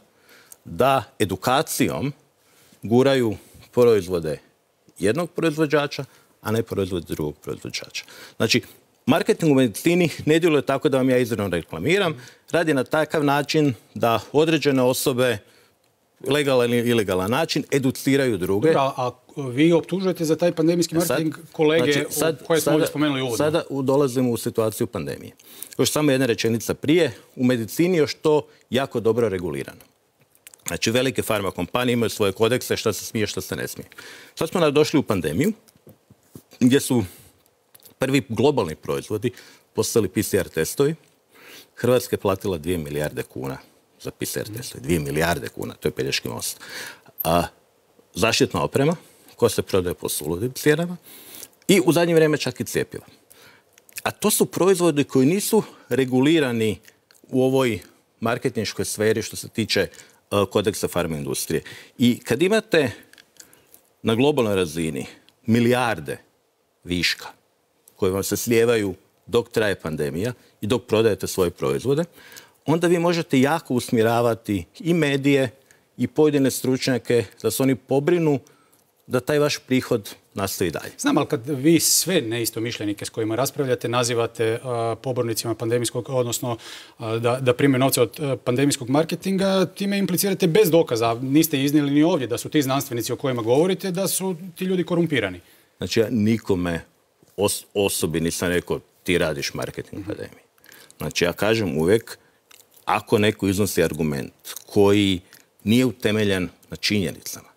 da edukacijom guraju proizvode jednog proizvođača, a ne proizvode drugog proizvođača. Znači, marketing u medicini ne djeluje tako da vam ja izravno reklamiram, radi na takav način da određene osobe legalan ili ilegalan način educiraju druge. Dobra, a vi optužujete za taj pandemijski marketing sad, kolege znači, sad, koje smo ovdje spomenuli uvodno. Sada dolazimo u situaciju pandemije. Još samo jedna rečenica prije, u medicini još to jako dobro regulirano. Znači, velike farma kompanije imaju svoje kodekse šta se smije, šta se ne smije. Sad smo došli u pandemiju, gdje su prvi globalni proizvodi postali P C R testovi. Hrvatska je platila dvije milijarde kuna za P C R testove. Dvije milijarde kuna, to je Pelješki most. A, zaštitna oprema, koja se prodaje po suludim cijenama, i u zadnje vrijeme čak i cjepiva. A to su proizvodi koji nisu regulirani u ovoj marketinškoj sferi što se tiče uh, kodeksa farma industrije. I kad imate na globalnoj razini milijarde viška koje vam se slijevaju dok traje pandemija i dok prodajete svoje proizvode, onda vi možete jako usmjeravati i medije i pojedine stručnjake da se oni pobrinu da taj vaš prihod nastavi dalje. Znam, ali kad vi sve neistomišljenike s kojima raspravljate nazivate uh, pobornicima pandemijskog, odnosno uh, da, da prime novce od uh, pandemijskog marketinga, time implicirate bez dokaza. Niste iznijeli ni ovdje da su ti znanstvenici o kojima govorite, da su ti ljudi korumpirani. Znači, ja nikome os- osobi nisam rekao ti radiš marketing mm-hmm. pandemiji. Znači, ja kažem uvijek, ako neko iznosi argument koji nije utemeljen na činjenicama,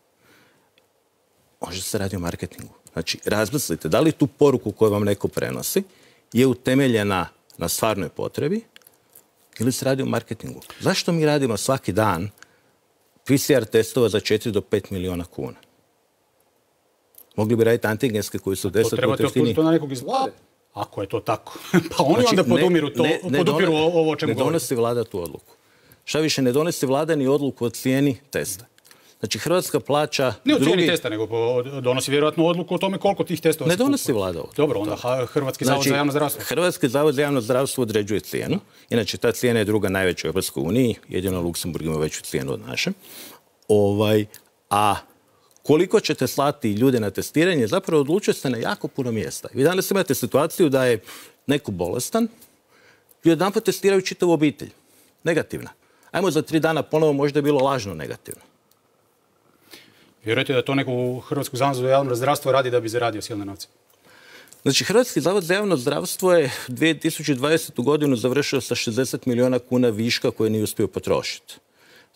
može se radi o marketingu. Znači, razmislite, da li tu poruku koju vam neko prenosi je utemeljena na stvarnoj potrebi ili se radi o marketingu. Zašto mi radimo svaki dan P C R testova za četiri do pet milijuna kuna? Mogli bi raditi antigenske koji su deset puta jeftiniji. To trebate to na nekog iz vlade. Ako je to tako. Pa oni znači, onda podumiru, to, ne, ne podupiru done, ovo o čemu Ne donosi vlada tu odluku. Šta više, ne donosi vlada ni odluku o cijeni testa. Znači, Hrvatska plaća... Ne o cijeni drugi... testa, nego donosi vjerojatno odluku o tome koliko tih testova... Ne donosi vlada odluku. Dobro, onda Hrvatski zavod znači, za javno zdravstvo. Hrvatski zavod za javno zdravstvo određuje cijenu. Inače, ta cijena je druga najveća u Europskoj uniji. Jedino Luksemburg ima veću cijenu od naše. Ovaj, a koliko ćete slati ljude na testiranje, zapravo odlučuje se na jako puno mjesta. Vi danas imate situaciju da je neko bolestan i odjedanput testiraju čitavu obitelj. Negativna. Ajmo za tri dana ponovo možda je bilo lažno negativno. Vjerujete da to neko u Hrvatskom zavodu za javno zdravstvo radi da bi zaradio silne novce? Znači, Hrvatski zavod za javno zdravstvo je dvije tisuće dvadesetu godinu završio sa šezdeset milijuna kuna viška koje nije uspio potrošiti.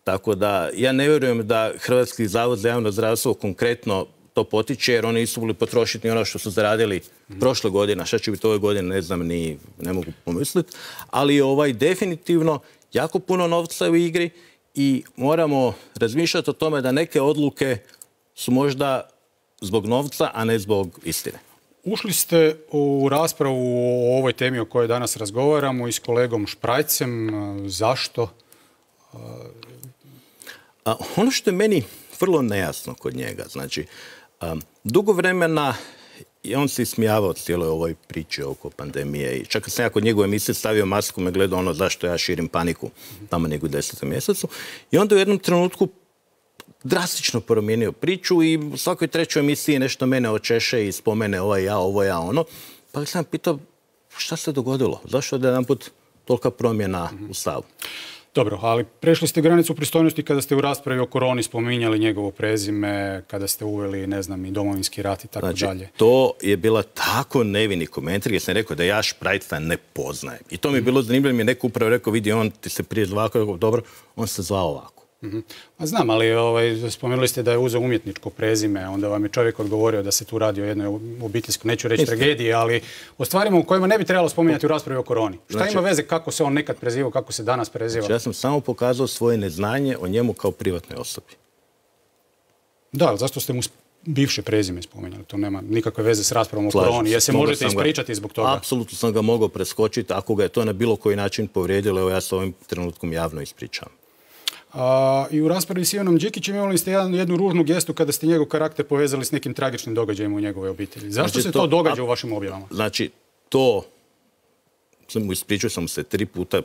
Tako da ja ne vjerujem da Hrvatski zavod za javno zdravstvo konkretno to potiče, jer oni nisu mogli potrošiti ni ono što su zaradili mm. prošle godine. Šta će biti ove godine, ne znam, ni ne mogu pomisliti. Ali ovaj definitivno jako puno novca u igri i moramo razmišljati o tome da neke odluke su možda zbog novca, a ne zbog istine. Ušli ste u raspravu o ovoj temi o kojoj danas razgovaramo i s kolegom Šprajcem. Zašto? A, ono što je meni vrlo nejasno kod njega, znači, a, dugo vremena i on se ismijavao cijeloj ovoj priči oko pandemije i čak sam ja kod njegove emisije stavio masku, me gledao ono zašto ja širim paniku tamo nego u desetom mjesecu i onda u jednom trenutku drastično promijenio priču i u svakoj trećoj emisiji nešto mene očeše i spomene ovo ja, ovo ja, ono. Pa sam pitao šta se dogodilo, zašto je jedanput tolika promjena u stavu? Dobro, ali prešli ste granicu pristojnosti kada ste u raspravi o koroni spominjali njegovo prezime, kada ste uveli, ne znam, i Domovinski rat i tako znači, dalje. To je bila tako nevini komentar gdje sam rekao da ja Šprajca ne poznajem. I to mi je bilo zanimljivo, mi je neko upravo rekao, vidi, on ti se prije zvao, dobro, on se zvao ovako. Mm-hmm. A znam, ali ovaj, spomenuli ste da je uzeo umjetničko prezime, onda vam je čovjek odgovorio da se tu radi o jednoj obiteljskoj, neću reći tragediji, ali o stvarima u kojima ne bi trebalo spominjati u raspravi o koroni. Šta znači, ima veze kako se on nekad prezivao, kako se danas preziva? Znači, ja sam samo pokazao svoje neznanje o njemu kao privatnoj osobi. Da, ali zašto ste mu bivše prezime spominjali? To nema nikakve veze s raspravom o koroni, jer se možete ispričati zbog toga. Apsolutno sam ga mogao preskočiti ako ga je to na bilo koji način povrijedilo, evo ja se ovim trenutkom javno ispričavam. A, I u raspravi s Ivanom Đikićem imali ste jedan, jednu ružnu gestu kada ste njegov karakter povezali s nekim tragičnim događajima u njegove obitelji. Zašto znači, se to, to događa a, u vašim objavama? Znači, to, ispričao sam se tri puta,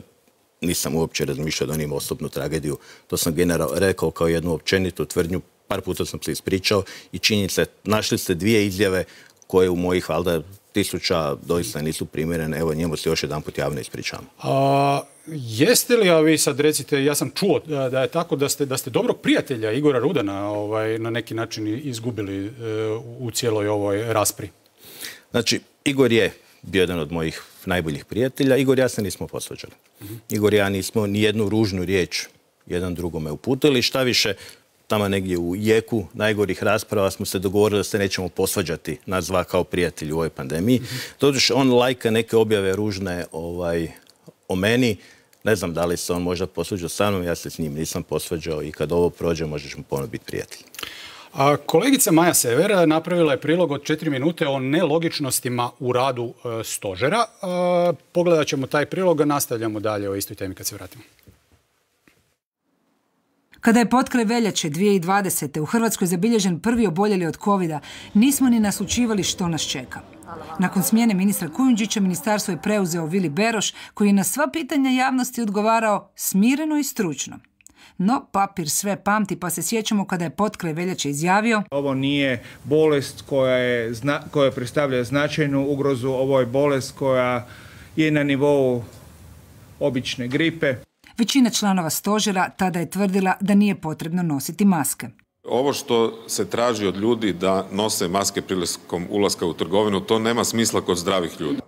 nisam uopće razmišljao da on ima osobnu tragediju. To sam general rekao kao jednu općenitu tvrdnju, par puta sam se ispričao i činjenica, našli ste dvije izjave koje u mojih, valjda, tisuća doista nisu primjerene. Evo, njemu se još jedan put javno ispričavam. A, jeste li, a vi sad recite, ja sam čuo da, da je tako da ste, da ste dobrog prijatelja Igora Rudana ovaj, na neki način izgubili e, u cijeloj ovoj raspri? Znači, Igor je bio jedan od mojih najboljih prijatelja. Igor i ja se nismo posvađali. Mm-hmm. Igor i ja nismo ni jednu ružnu riječ jedan drugome uputili. Šta više, tamo negdje u jeku najgorih rasprava smo se dogovorili da se nećemo posvađati nas dva kao prijatelji u ovoj pandemiji. Mm-hmm. Doduše, on lajka neke objave ružne ovaj, o meni. Ne znam da li se on možda posvađao sa mnom, ja se s njim nisam posvađao i kad ovo prođe možda ćemo ponovno biti prijatelji. A kolegica Maja Sever napravila je prilog od četiri minute o nelogičnostima u radu e, stožera. E, pogledat ćemo taj prilog, a nastavljamo dalje o istoj temi kad se vratimo. Kada je potkraj veljače dvije tisuće dvadesete. u Hrvatskoj zabilježen prvi oboljeli od kovida, nismo ni naslućivali što nas čeka. Nakon smjene ministra Kujundžića, ministarstvo je preuzeo Vili Beroš, koji je na sva pitanja javnosti odgovarao smireno i stručno. No, papir sve pamti, pa se sjećamo kada je potkraj veljače izjavio: ovo nije bolest koja, je, koja predstavlja značajnu ugrozu, ovo je bolest koja je na nivou obične gripe. Većina članova stožera tada je tvrdila da nije potrebno nositi maske. Ovo što se traži od ljudi da nose maske prilikom ulaska u trgovinu, to nema smisla kod zdravih ljudi.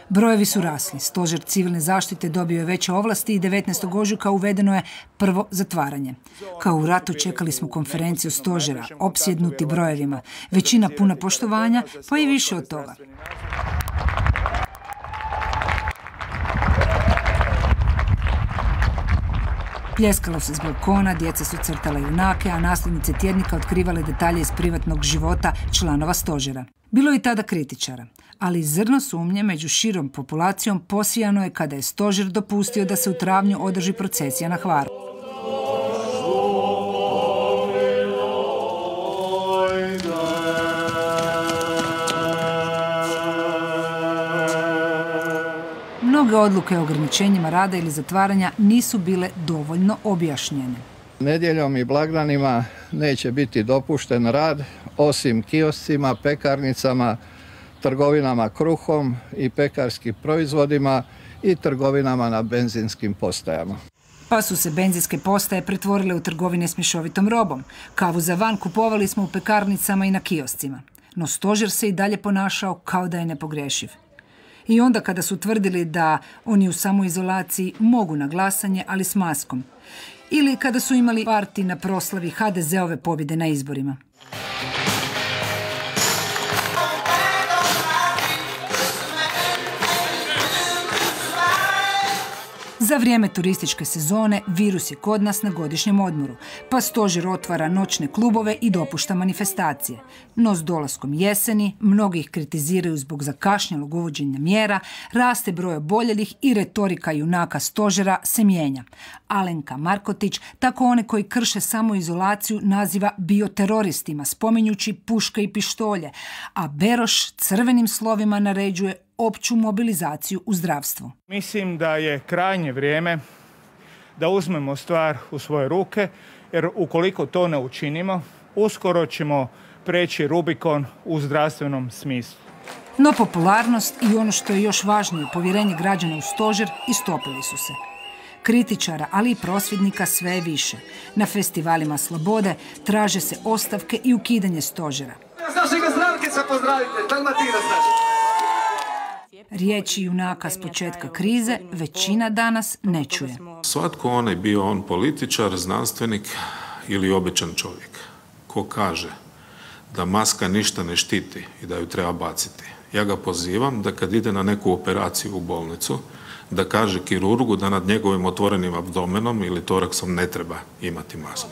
Brojevi su rasli. Stožer civilne zaštite dobio je veće ovlasti i devetnaestog ožujka uvedeno je prvo zatvaranje. Kao u ratu čekali smo konferenciju stožera, opsjednuti brojevima. Većina puna poštovanja, pa i više od toga. Pljeskalo se s balkona, djeca su crtala junake, a nasljednice tjednika otkrivale detalje iz privatnog života članova stožera. Bilo je i tada kritičara, ali zrno sumnje među širom populacijom posijano je kada je stožer dopustio da se u travnju održi procesija na Hvaru. Mnoge odluke o ograničenjima rada ili zatvaranja nisu bile dovoljno objašnjene. Nedjeljom i blagdanima neće biti dopušten rad osim kioscima, pekarnicama, trgovinama kruhom i pekarskim proizvodima i trgovinama na benzinskim postajama. Pa su se benzinske postaje pretvorile u trgovine s mješovitom robom. Kavu za van kupovali smo u pekarnicama i na kioscima. No stožer se i dalje ponašao kao da je nepogrešiv. I onda kada su tvrdili da oni u samoizolaciji mogu na glasanje, ali s maskom. Ili kada su imali parti na proslavi ha de ze ove pobjede na izborima. Za vrijeme turističke sezone virus je kod nas na godišnjem odmoru, pa stožer otvara noćne klubove i dopušta manifestacije. No s dolaskom jeseni, mnogi ih kritiziraju zbog zakašnjelog uvođenja mjera, raste broj oboljelih i retorika junaka stožera se mijenja. Alenka Markotić tako one koji krše samoizolaciju naziva bioteroristima, spominjući puške i pištolje, a Beroš crvenim slovima naređuje opću mobilizaciju u zdravstvu. Mislim da je krajnje vrijeme da uzmemo stvar u svoje ruke, jer ukoliko to ne učinimo, uskoro ćemo preći Rubikon u zdravstvenom smislu. No popularnost i ono što je još važnije, povjerenje građana u stožer, istopili su se. Kritičara, ali i prosvjednika sve je više. Na festivalima slobode traže se ostavke i ukidanje stožera. Riječi junaka s početka krize većina danas ne čuje. Svatko onaj, bio on političar, znanstvenik ili običan čovjek, ko kaže da maska ništa ne štiti i da ju treba baciti. Ja ga pozivam da kad ide na neku operaciju u bolnicu, da kaže kirurgu da nad njegovim otvorenim abdomenom ili toraksom ne treba imati masku.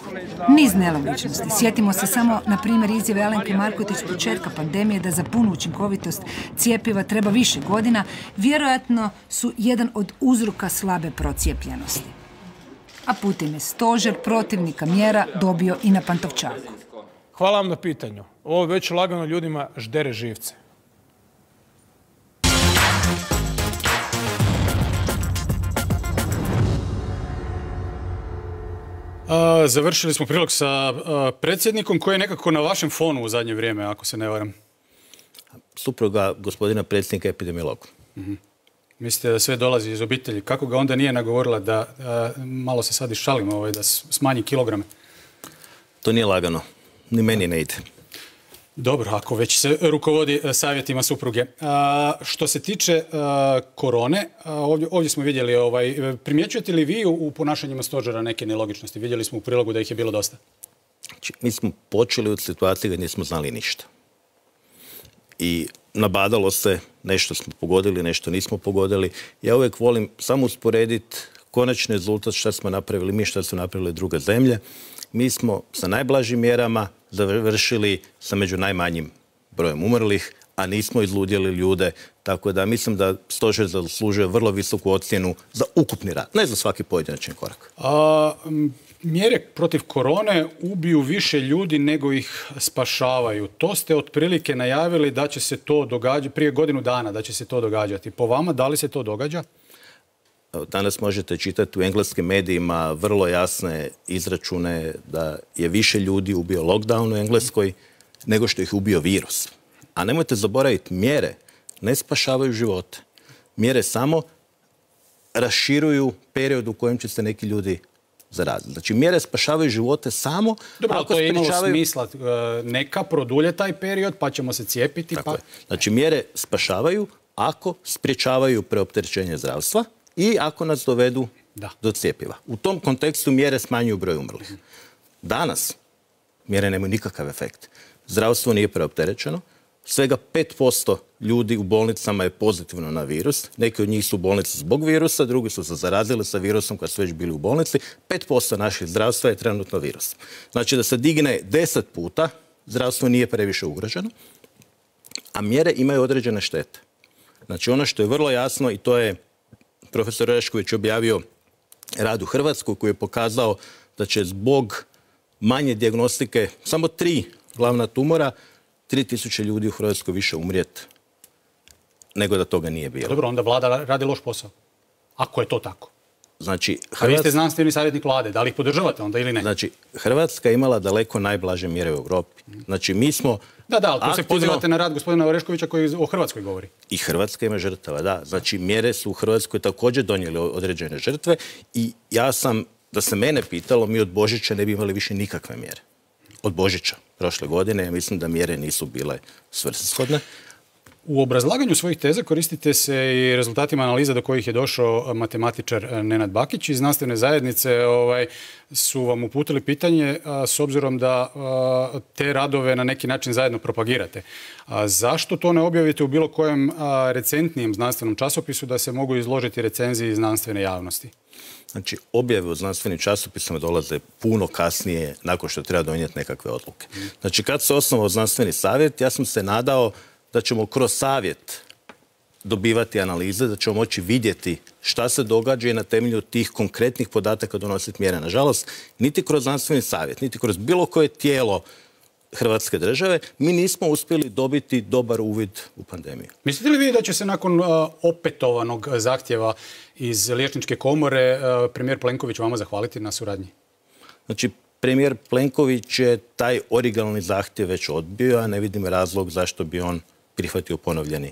Niz nelogičnosti. Sjetimo se samo, na primjer, izjave Alenke Markotić s početka pandemije da za punu učinkovitost cjepiva treba više godina, vjerojatno su jedan od uzroka slabe procijepljenosti. a putem je stožer protivnika mjera dobio i na Pantovčaku. Hvala vam na pitanju. Ovo već lagano ljudima ždere živce. A, završili smo prilog sa a, predsjednikom koji je nekako na vašem fonu u zadnje vrijeme, ako se ne varam. Supruga gospodina predsjednika epidemiologa. Mm-hmm. Mislite da sve dolazi iz obitelji. Kako ga onda nije nagovorila da, a, malo se sad išalim, ovaj, da smanji kilograme? To nije lagano. Ni meni ne ide. Dobro, ako već se rukovodi savjetima supruge. A, što se tiče a, korone, a, ovdje, ovdje smo vidjeli, ovaj, primjećujete li vi u, u ponašanjima stožera neke nelogičnosti? Vidjeli smo u prilogu da ih je bilo dosta. Znači, mi smo počeli od situacije gdje nismo znali ništa. I nabadalo se, nešto smo pogodili, nešto nismo pogodili. Ja uvijek volim samo usporediti konačni rezultat šta smo napravili mi, šta su napravili druge zemlje. Mi smo sa najblažim mjerama završili sa među najmanjim brojem umrlih, a nismo izludjeli ljude. Tako da mislim da stožer zaslužuje vrlo visoku ocjenu za ukupni rad, ne za svaki pojedinačni korak. A, mjere protiv korone ubiju više ljudi nego ih spašavaju. To ste otprilike najavili da će se to događati prije godinu dana, da će se to događati. Po vama, da li se to događa? Danas možete čitati u engleskim medijima vrlo jasne izračune da je više ljudi ubio lockdown u Engleskoj nego što ih ubio virus. A nemojte zaboraviti, mjere ne spašavaju živote. Mjere samo raširuju period u kojem će se neki ljudi zaraziti. Znači, mjere spašavaju živote samo Dobro, ako to je imalo sprečavaju... smisla. Neka produlje taj period, pa ćemo se cijepiti. Tako Pa... je. Znači, mjere spašavaju ako sprječavaju preopterećenje zdravstva i ako nas dovedu da. do cjepiva. U tom kontekstu mjere smanjuju broj umrlih. Danas mjere nemaju nikakav efekt. Zdravstvo nije preopterećeno. Svega pet posto ljudi u bolnicama je pozitivno na virus. Neki od njih su u bolnici zbog virusa, drugi su se zarazili sa virusom kad su već bili u bolnici. pet posto naših zdravstva je trenutno virus. Znači da se digne deset puta, zdravstvo nije previše ugroženo, a mjere imaju određene štete. Znači ono što je vrlo jasno, i to je profesor Orešković objavio rad u Hrvatskoj koji je pokazao da će zbog manje dijagnostike samo tri glavna tumora tri tisuće ljudi u Hrvatskoj više umrijeti nego da toga nije bilo. Dobro, onda vlada radi loš posao. Ako je to tako. Znači, Hrvatska... A vi ste znanstveni savjetnik vlade, da li ih podržavate onda ili ne? Znači, Hrvatska je imala daleko najblaže mjere u Europi. Znači, mi smo... Da, da, ali tu aktivno... se pozivate na rad gospodina Oreškovića koji o Hrvatskoj govori. I Hrvatska ima žrtava, da. Znači, mjere su u Hrvatskoj također donijeli određene žrtve i ja sam, da se mene pitalo, mi od Božića ne bi imali više nikakve mjere. Od Božića prošle godine, ja mislim da mjere nisu bile svrsishodne. U obrazlaganju svojih teza koristite se i rezultatima analiza do kojih je došao matematičar Nenad Bakić iz znanstvene zajednice. Ovaj, su vam uputili pitanje a, s obzirom da a, te radove na neki način zajedno propagirate. A zašto to ne objavite u bilo kojem a, recentnijem znanstvenom časopisu da se mogu izložiti recenziji znanstvene javnosti? Znači, objave u znanstvenim časopisima dolaze puno kasnije nakon što treba donijeti nekakve odluke. Znači, kad se osnovao znanstveni savjet, ja sam se nadao da ćemo kroz savjet dobivati analize, da ćemo moći vidjeti šta se događa i na temelju tih konkretnih podataka donositi mjere. Nažalost, niti kroz znanstveni savjet, niti kroz bilo koje tijelo Hrvatske države, mi nismo uspjeli dobiti dobar uvid u pandemiju. Mislite li vi da će se nakon uh, opetovanog zahtjeva iz Liječničke komore uh, premijer Plenković vama zahvaliti na suradnji? Znači, premijer Plenković je taj originalni zahtjev već odbio, a ne vidim razlog zašto bi on prihvatio ponovljeni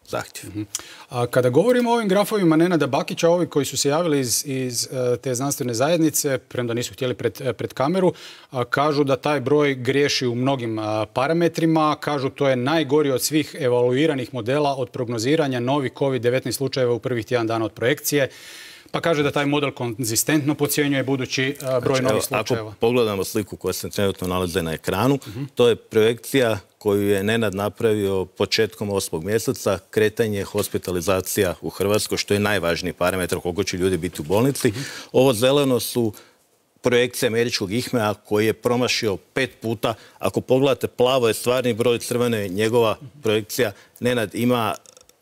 zahtjev. Uh-huh. A kada govorimo o ovim grafovima Nenada Bakića, ovi koji su se javili iz, iz uh, te znanstvene zajednice, premda nisu htjeli pred, pred kameru, uh, kažu da taj broj griješi u mnogim uh, parametrima, kažu to je najgori od svih evaluiranih modela od prognoziranja novih kovid devetnaest slučajeva u prvih tjedan dana od projekcije. Pa kaže da taj model konzistentno podcjenjuje budući uh, broj znači, novih evo, slučajeva. Ako pogledamo sliku koja se trenutno nalaze na ekranu, uh-huh. to je projekcija koju je Nenad napravio početkom osmog mjeseca, kretanje hospitalizacija u Hrvatskoj, što je najvažniji parametar koliko će ljudi biti u bolnici. Uh-huh. Ovo zeleno su projekcije američkog I H M E A koji je promašio pet puta. Ako pogledate, plavo je stvarni broj, crveno je njegova projekcija. Nenad ima,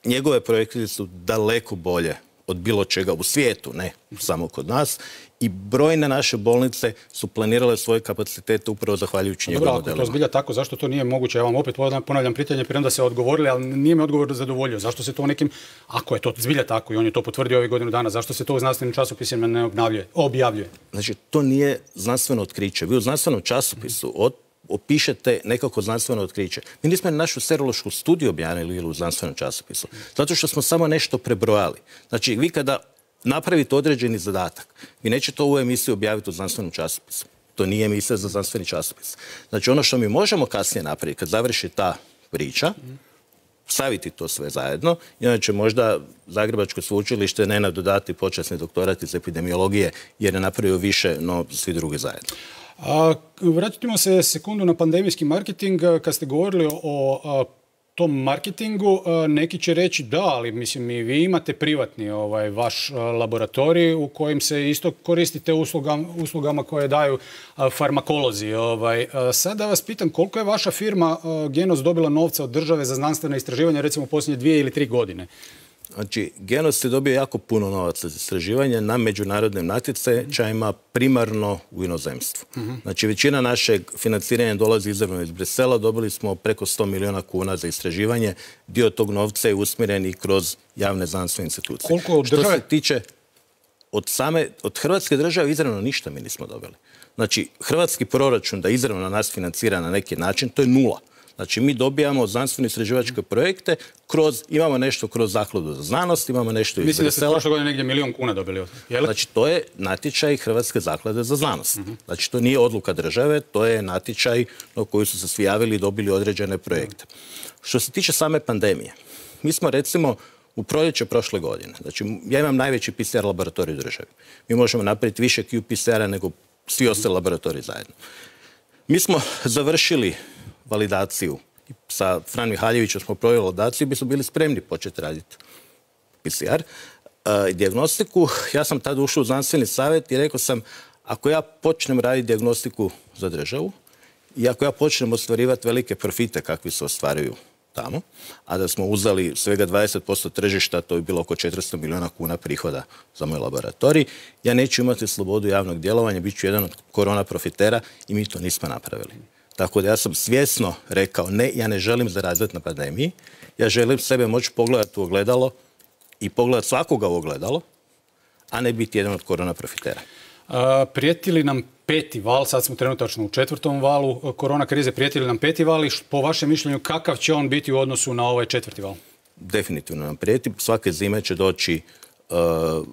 njegove projekcije su daleko bolje od bilo čega u svijetu, ne samo kod nas. I brojne naše bolnice su planirale svoje kapacitete upravo zahvaljujući njegovim modelima. Dobro, ako to zbilja tako, zašto to nije moguće? Ja vam opet ponavljam pitanje, premda se odgovorili, ali nije me odgovor zadovoljio. Zašto se to nekim, ako je to zbilja tako i on je to potvrdio ovih godinu dana, zašto se to u znanstvenim časopisima ne objavljuje? Znači, to nije znanstveno otkriće. Vi u znanstvenom časopisu od opišete nekako znanstveno otkriće. Mi nismo našu serološku studiju objavili u znanstvenom časopisu. Zato što smo samo nešto prebrojali. Znači, vi kada napravite određeni zadatak, vi nećete ovu emisiju objaviti u znanstvenom časopisu. To nije emisija za znanstveni časopis. Znači, ono što mi možemo kasnije napraviti, kad završi ta priča, staviti to sve zajedno, i onda će možda Zagrebačko sveučilište ne nadodati počasni doktorat iz epidemiologije, jer je napravio više, no svi drugi zajedno. A, vratimo se sekundu na pandemijski marketing. Kad ste govorili o a, tom marketingu, a, neki će reći da, ali mislim i vi imate privatni ovaj, vaš a, laboratorij u kojem se isto koristite uslugama, uslugama koje daju a, farmakolozi. Ovaj. A, sad da vas pitam, koliko je vaša firma a, Genos dobila novca od države za znanstvene istraživanja, recimo u posljednje dvije ili tri godine? Znači, Genos je dobio jako puno novaca za istraživanje na međunarodnim natječajima, primarno u inozemstvu. Uh-huh. Znači, većina našeg financiranja dolazi izravno iz Brisela. Dobili smo preko sto milijuna kuna za istraživanje. Dio tog novca je usmjeren i kroz javne znanstvene institucije. Koliko od države? Što se tiče od same, od Hrvatske države izravno ništa mi nismo dobili. Znači, hrvatski proračun da izravno nas financira na neki način, to je nula. Znači, mi dobijamo znanstveno-istraživačke projekte, kroz, imamo nešto kroz Zakladu za znanost, imamo nešto iz Brisela. Mislim da ste prošle godine negdje milijon kuna dobili. Je li? Znači, to je natječaj Hrvatske zaklade za znanost. Uh-huh. Znači, to nije odluka države, to je natječaj na koji su se svi javili i dobili određene projekte. Uh-huh. Što se tiče same pandemije, mi smo recimo u proljeće prošle godine, znači, ja imam najveći P C R laboratorij u državi. Mi možemo napraviti više Q P C R-a nego svi ostali laboratoriji zajedno. Mi smo završili validaciju. Sa Fran Mihaljevićem smo proveli validaciju i bi smo bili spremni početi raditi P C R i dijagnostiku. Ja sam tada ušao u znanstveni savjet i rekao sam, ako ja počnem raditi dijagnostiku za državu i ako ja počnem ostvarivati velike profite kakvi se ostvaruju tamo, a da smo uzeli svega dvadeset posto tržišta, to bi bilo oko četiristo milijuna kuna prihoda za moj laboratorij, ja neću imati slobodu javnog djelovanja, bit ću jedan od korona profitera i mi to nismo napravili. Tako da ja sam svjesno rekao, ne, ja ne želim zaraditi na pandemiji, ja želim sebe moći pogledati u ogledalo i pogledati svakoga u ogledalo, a ne biti jedan od korona profitera. A, prijeti li nam peti val, sad smo trenutačno u četvrtom valu korona krize, prijeti li nam peti val i po vašem mišljenju kakav će on biti u odnosu na ovaj četvrti val? Definitivno nam prijeti. Svake zime će doći Uh,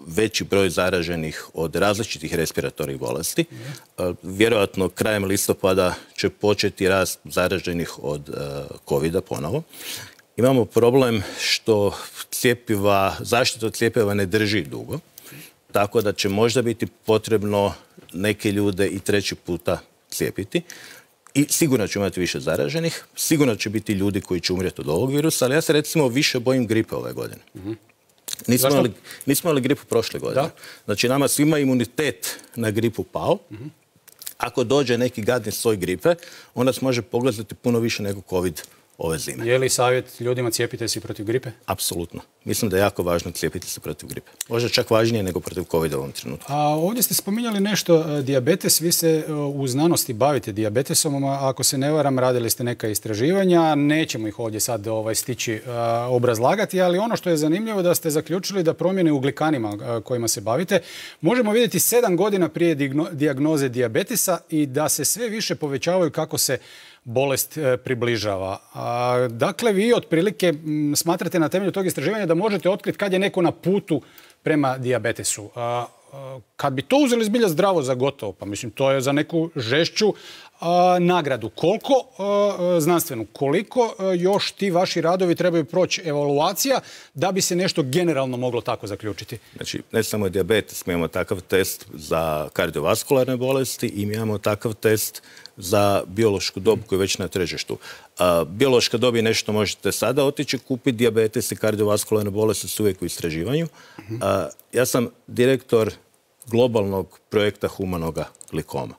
veći broj zaraženih od različitih respiratornih bolesti. Uh, vjerojatno krajem listopada će početi rast zaraženih od uh, covida ponovo. Imamo problem što cjepiva, zaštita od cjepiva ne drži dugo, tako da će možda biti potrebno neke ljude i treći puta cijepiti. I sigurno će imati više zaraženih, sigurno će biti ljudi koji će umrijeti od ovog virusa, ali ja se recimo više bojim gripe ove godine. Uh-huh. Nismo imali, nismo imali gripu prošle godine. Da? Znači, nama svima imunitet na gripu pao. Uh-huh. Ako dođe neki gadni soj gripe, on nas može pogledati puno više nego COVID ove zime. Je li savjet ljudima cijepite se protiv gripe? Apsolutno. Mislim da je jako važno cijepiti se protiv gripe. Možda čak važnije nego protiv covida u ovom trenutku. A ovdje ste spominjali nešto, dijabetes. Vi se u znanosti bavite dijabetesom, a ako se ne varam, radili ste neka istraživanja. Nećemo ih ovdje sad ovaj, stići a, obrazlagati, ali ono što je zanimljivo da ste zaključili da promjene u glikanima a, kojima se bavite možemo vidjeti sedam godina prije digno, dijagnoze dijabetesa i da se sve više povećavaju kako se bolest e, približava. A, dakle, vi otprilike m, smatrate na temelju tog istraživanja da možete otkriti kad je neko na putu prema dijabetesu. A, a, kad bi to uzeli zbilja zdravo za gotovo, pa mislim to je za neku žešću a, nagradu. Koliko a, znanstvenu, koliko a, još ti vaši radovi trebaju proći evaluacija da bi se nešto generalno moglo tako zaključiti? Znači, ne samo dijabetes, mi imamo takav test za kardiovaskularne bolesti i mi imamo takav test za biološku dob koju je već na tržištu. A, biološka dob je nešto možete sada otići kupiti, dijabetes i kardiovaskularne bolesti su uvijek u istraživanju. A, ja sam direktor globalnog projekta humanoga glikoma.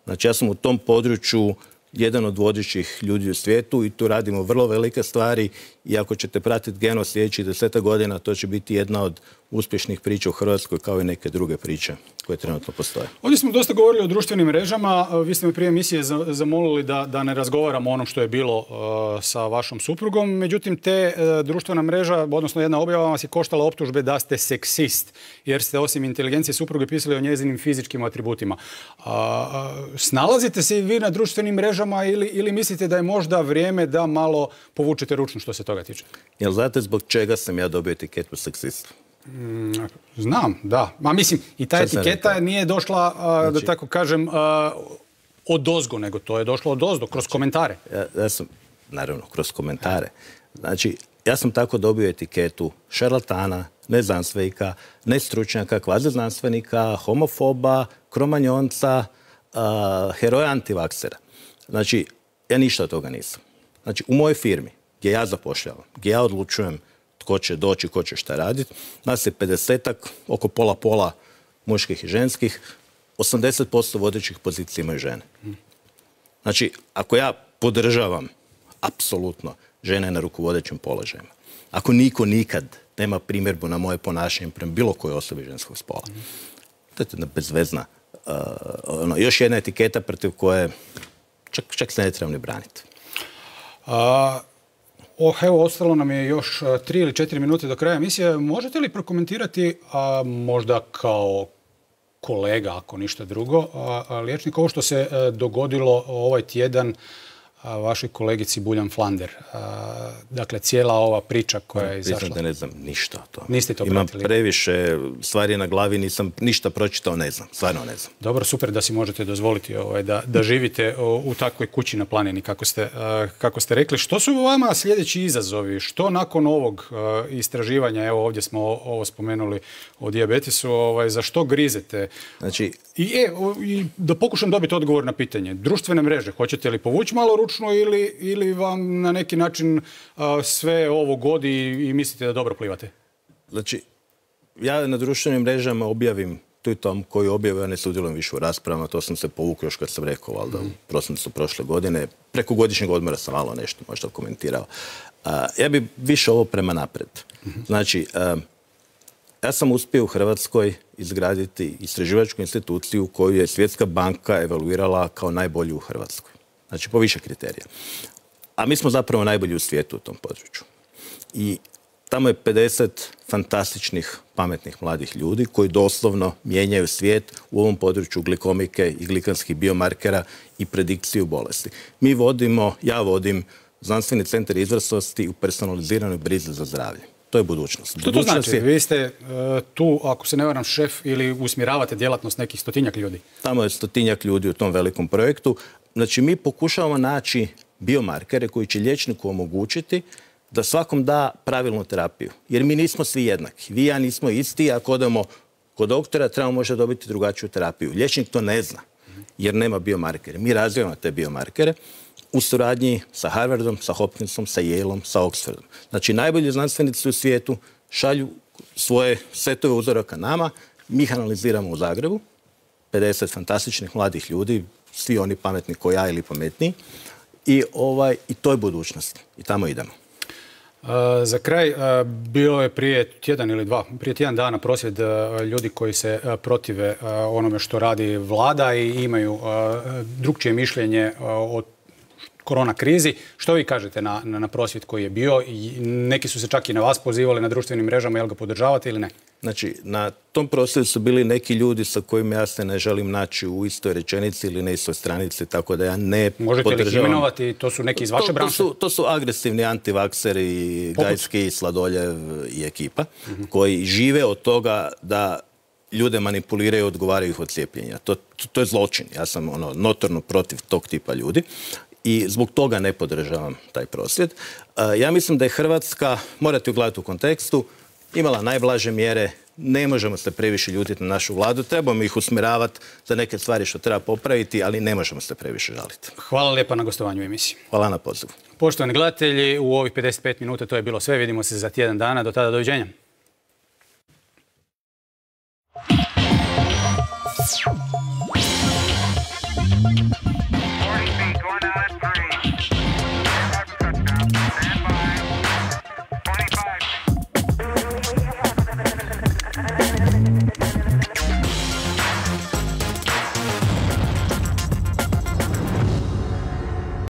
Znači, ja sam u tom području jedan od vodećih ljudi u svijetu i tu radimo vrlo velike stvari i ako ćete pratiti Geno sljedećih deseta godina, to će biti jedna od uspješnih priča u Hrvatskoj kao i neke druge priče koje trenutno postoje. Ovdje smo dosta govorili o društvenim mrežama. Vi ste me prije emisije zamolili da, da ne razgovaramo o onom što je bilo uh, sa vašom suprugom. Međutim, te uh, društvena mreža, odnosno jedna objava vas je koštala optužbe da ste seksist, jer ste osim inteligencije supruge pisali o njezinim fizičkim atributima. Uh, snalazite se i vi na društvenim mrežama ili, ili mislite da je možda vrijeme da malo povučete ručnu što se toga tiče? Jel znate zbog čega sam ja dobio etiketu seksist? Mm, znam, da. Ma mislim, i ta etiketa nije došla, a, znači, da tako kažem, a, od ozgo, nego to je došlo od ozdo, kroz komentare. Ja, ja sam, naravno, kroz komentare. Znači, ja sam tako dobio etiketu šarlatana, neznanstvenika, nestručnjaka, kvaziznanstvenika, homofoba, kromanjonca, a, heroja antivaksera. Znači, ja ništa od toga nisam. Znači, u mojoj firmi, gdje ja zapošljavam, gdje ja odlučujem tko će doći, tko će šta raditi, nas je pedesetak, oko pola-pola muških i ženskih, osamdeset posto vodećih pozicija imaju žene. Znači, ako ja podržavam apsolutno žene na rukovodećim položajima, ako niko nikad nema primjerbu na moje ponašanje prema bilo kojoj osobi ženskog spola, to je jedna bezvezna, uh, ono, još jedna etiketa protiv koje čak, čak se ne trebam ni braniti. A... Oh, evo, ostalo nam je još tri ili četiri minute do kraja emisije. Možete li prokomentirati, a, možda kao kolega, ako ništa drugo, a, a, liječnik, ovo što se a, dogodilo ovaj tjedan a, vašoj kolegici Buljan Flander? A, dakle, cijela ova priča koja je izašla. Priznam da ne znam ništa o tome. Niste to Imam pratili? previše stvari na glavi, nisam ništa pročitao, ne znam. Stvarno ne znam. Dobro, super da si možete dozvoliti ovaj, da, da živite u takvoj kući na planini, kako ste, uh, kako ste rekli. Što su vama sljedeći izazovi? Što nakon ovog uh, istraživanja, evo ovdje smo ovo spomenuli o dijabetesu, ovaj, za što grizete? Znači... I, e, i da pokušam dobiti odgovor na pitanje. Društvene mreže, hoćete li povući malo ručno ili, ili vam na neki način uh, sve ovo godi i mislite da dobro plivate? Znači, ja na društvenim mrežama objavim tweetom koji objavio, ja ne sudjelujem više u raspravama, to sam se povukao još kad sam rekao, valjda u prosincu prošle godine. Preko godišnjeg odmora sam malo nešto možda komentirao. Uh, ja bi više ovo prema napred. Znači, uh, ja sam uspio u Hrvatskoj izgraditi istraživačku instituciju koju je Svjetska banka evaluirala kao najbolju u Hrvatskoj. Znači, po više kriterija. A mi smo zapravo najbolji u svijetu u tom području. I tamo je pedeset fantastičnih, pametnih mladih ljudi koji doslovno mijenjaju svijet u ovom području glikomike i glikanskih biomarkera i predikciju bolesti. Mi vodimo, ja vodim Znanstveni centar izvrsnosti u personaliziranoj brizi za zdravlje. To je budućnost. Što to znači? Je... Vi ste uh, tu, ako se ne varam, šef ili usmjeravate djelatnost nekih stotinjak ljudi? Tamo je stotinjak ljudi u tom velikom projektu. Znači, mi pokušavamo naći biomarkere koji će liječniku omogućiti da svakom da pravilnu terapiju. Jer mi nismo svi jednaki. Vi i ja nismo isti, ako odemo kod doktora, trebamo možda dobiti drugačiju terapiju. Liječnik to ne zna, jer nema biomarkere. Mi razvijamo te biomarkere u suradnji sa Harvardom, sa Hopkinsom, sa Yaleom, sa Oxfordom. Znači, najbolji znanstvenici u svijetu šalju svoje setove uzoraka nama, mi ih analiziramo u Zagrebu, pedeset fantastičnih mladih ljudi, svi oni pametni ko ja ili pametniji, i, ovaj, i to je budućnost. I tamo idemo. Uh, za kraj, uh, bilo je prije tjedan ili dva, prije tjedan dana prosvjed uh, ljudi koji se uh, protive uh, onome što radi vlada i imaju uh, drukčije mišljenje uh, o korona krizi. Što vi kažete na, na, na prosvjed koji je bio? I neki su se čak i na vas pozivali na društvenim mrežama, jel ga podržavate ili ne? Znači, na tom prosvjedu su bili neki ljudi sa kojima ja se ne želim naći u istoj rečenici ili na istoj stranici, tako da ja ne Možete podržavam. Možete li ih imenovati? To su neki iz vaše to, branše? To su, to su agresivni antivakseri, Gajski, Sladoljev i ekipa, uh-huh. koji žive od toga da ljude manipuliraju i odgovaraju ih od cijepljenja. To, to, to je zločin. Ja sam ono, notorno protiv tog tipa ljudi. I zbog toga ne podržavam taj prosvjed. Ja mislim da je Hrvatska, morate ugledati u kontekstu, imala najblaže mjere, ne možemo se previše ljutiti na našu vladu, trebamo ih usmjeravati za neke stvari što treba popraviti, ali ne možemo se previše žaliti. Hvala lijepa na gostovanju u emisiji. Hvala na pozivu. Poštovani gledatelji, u ovih pedeset pet minuta to je bilo sve. Vidimo se za tjedan dana. Do tada, doviđenja.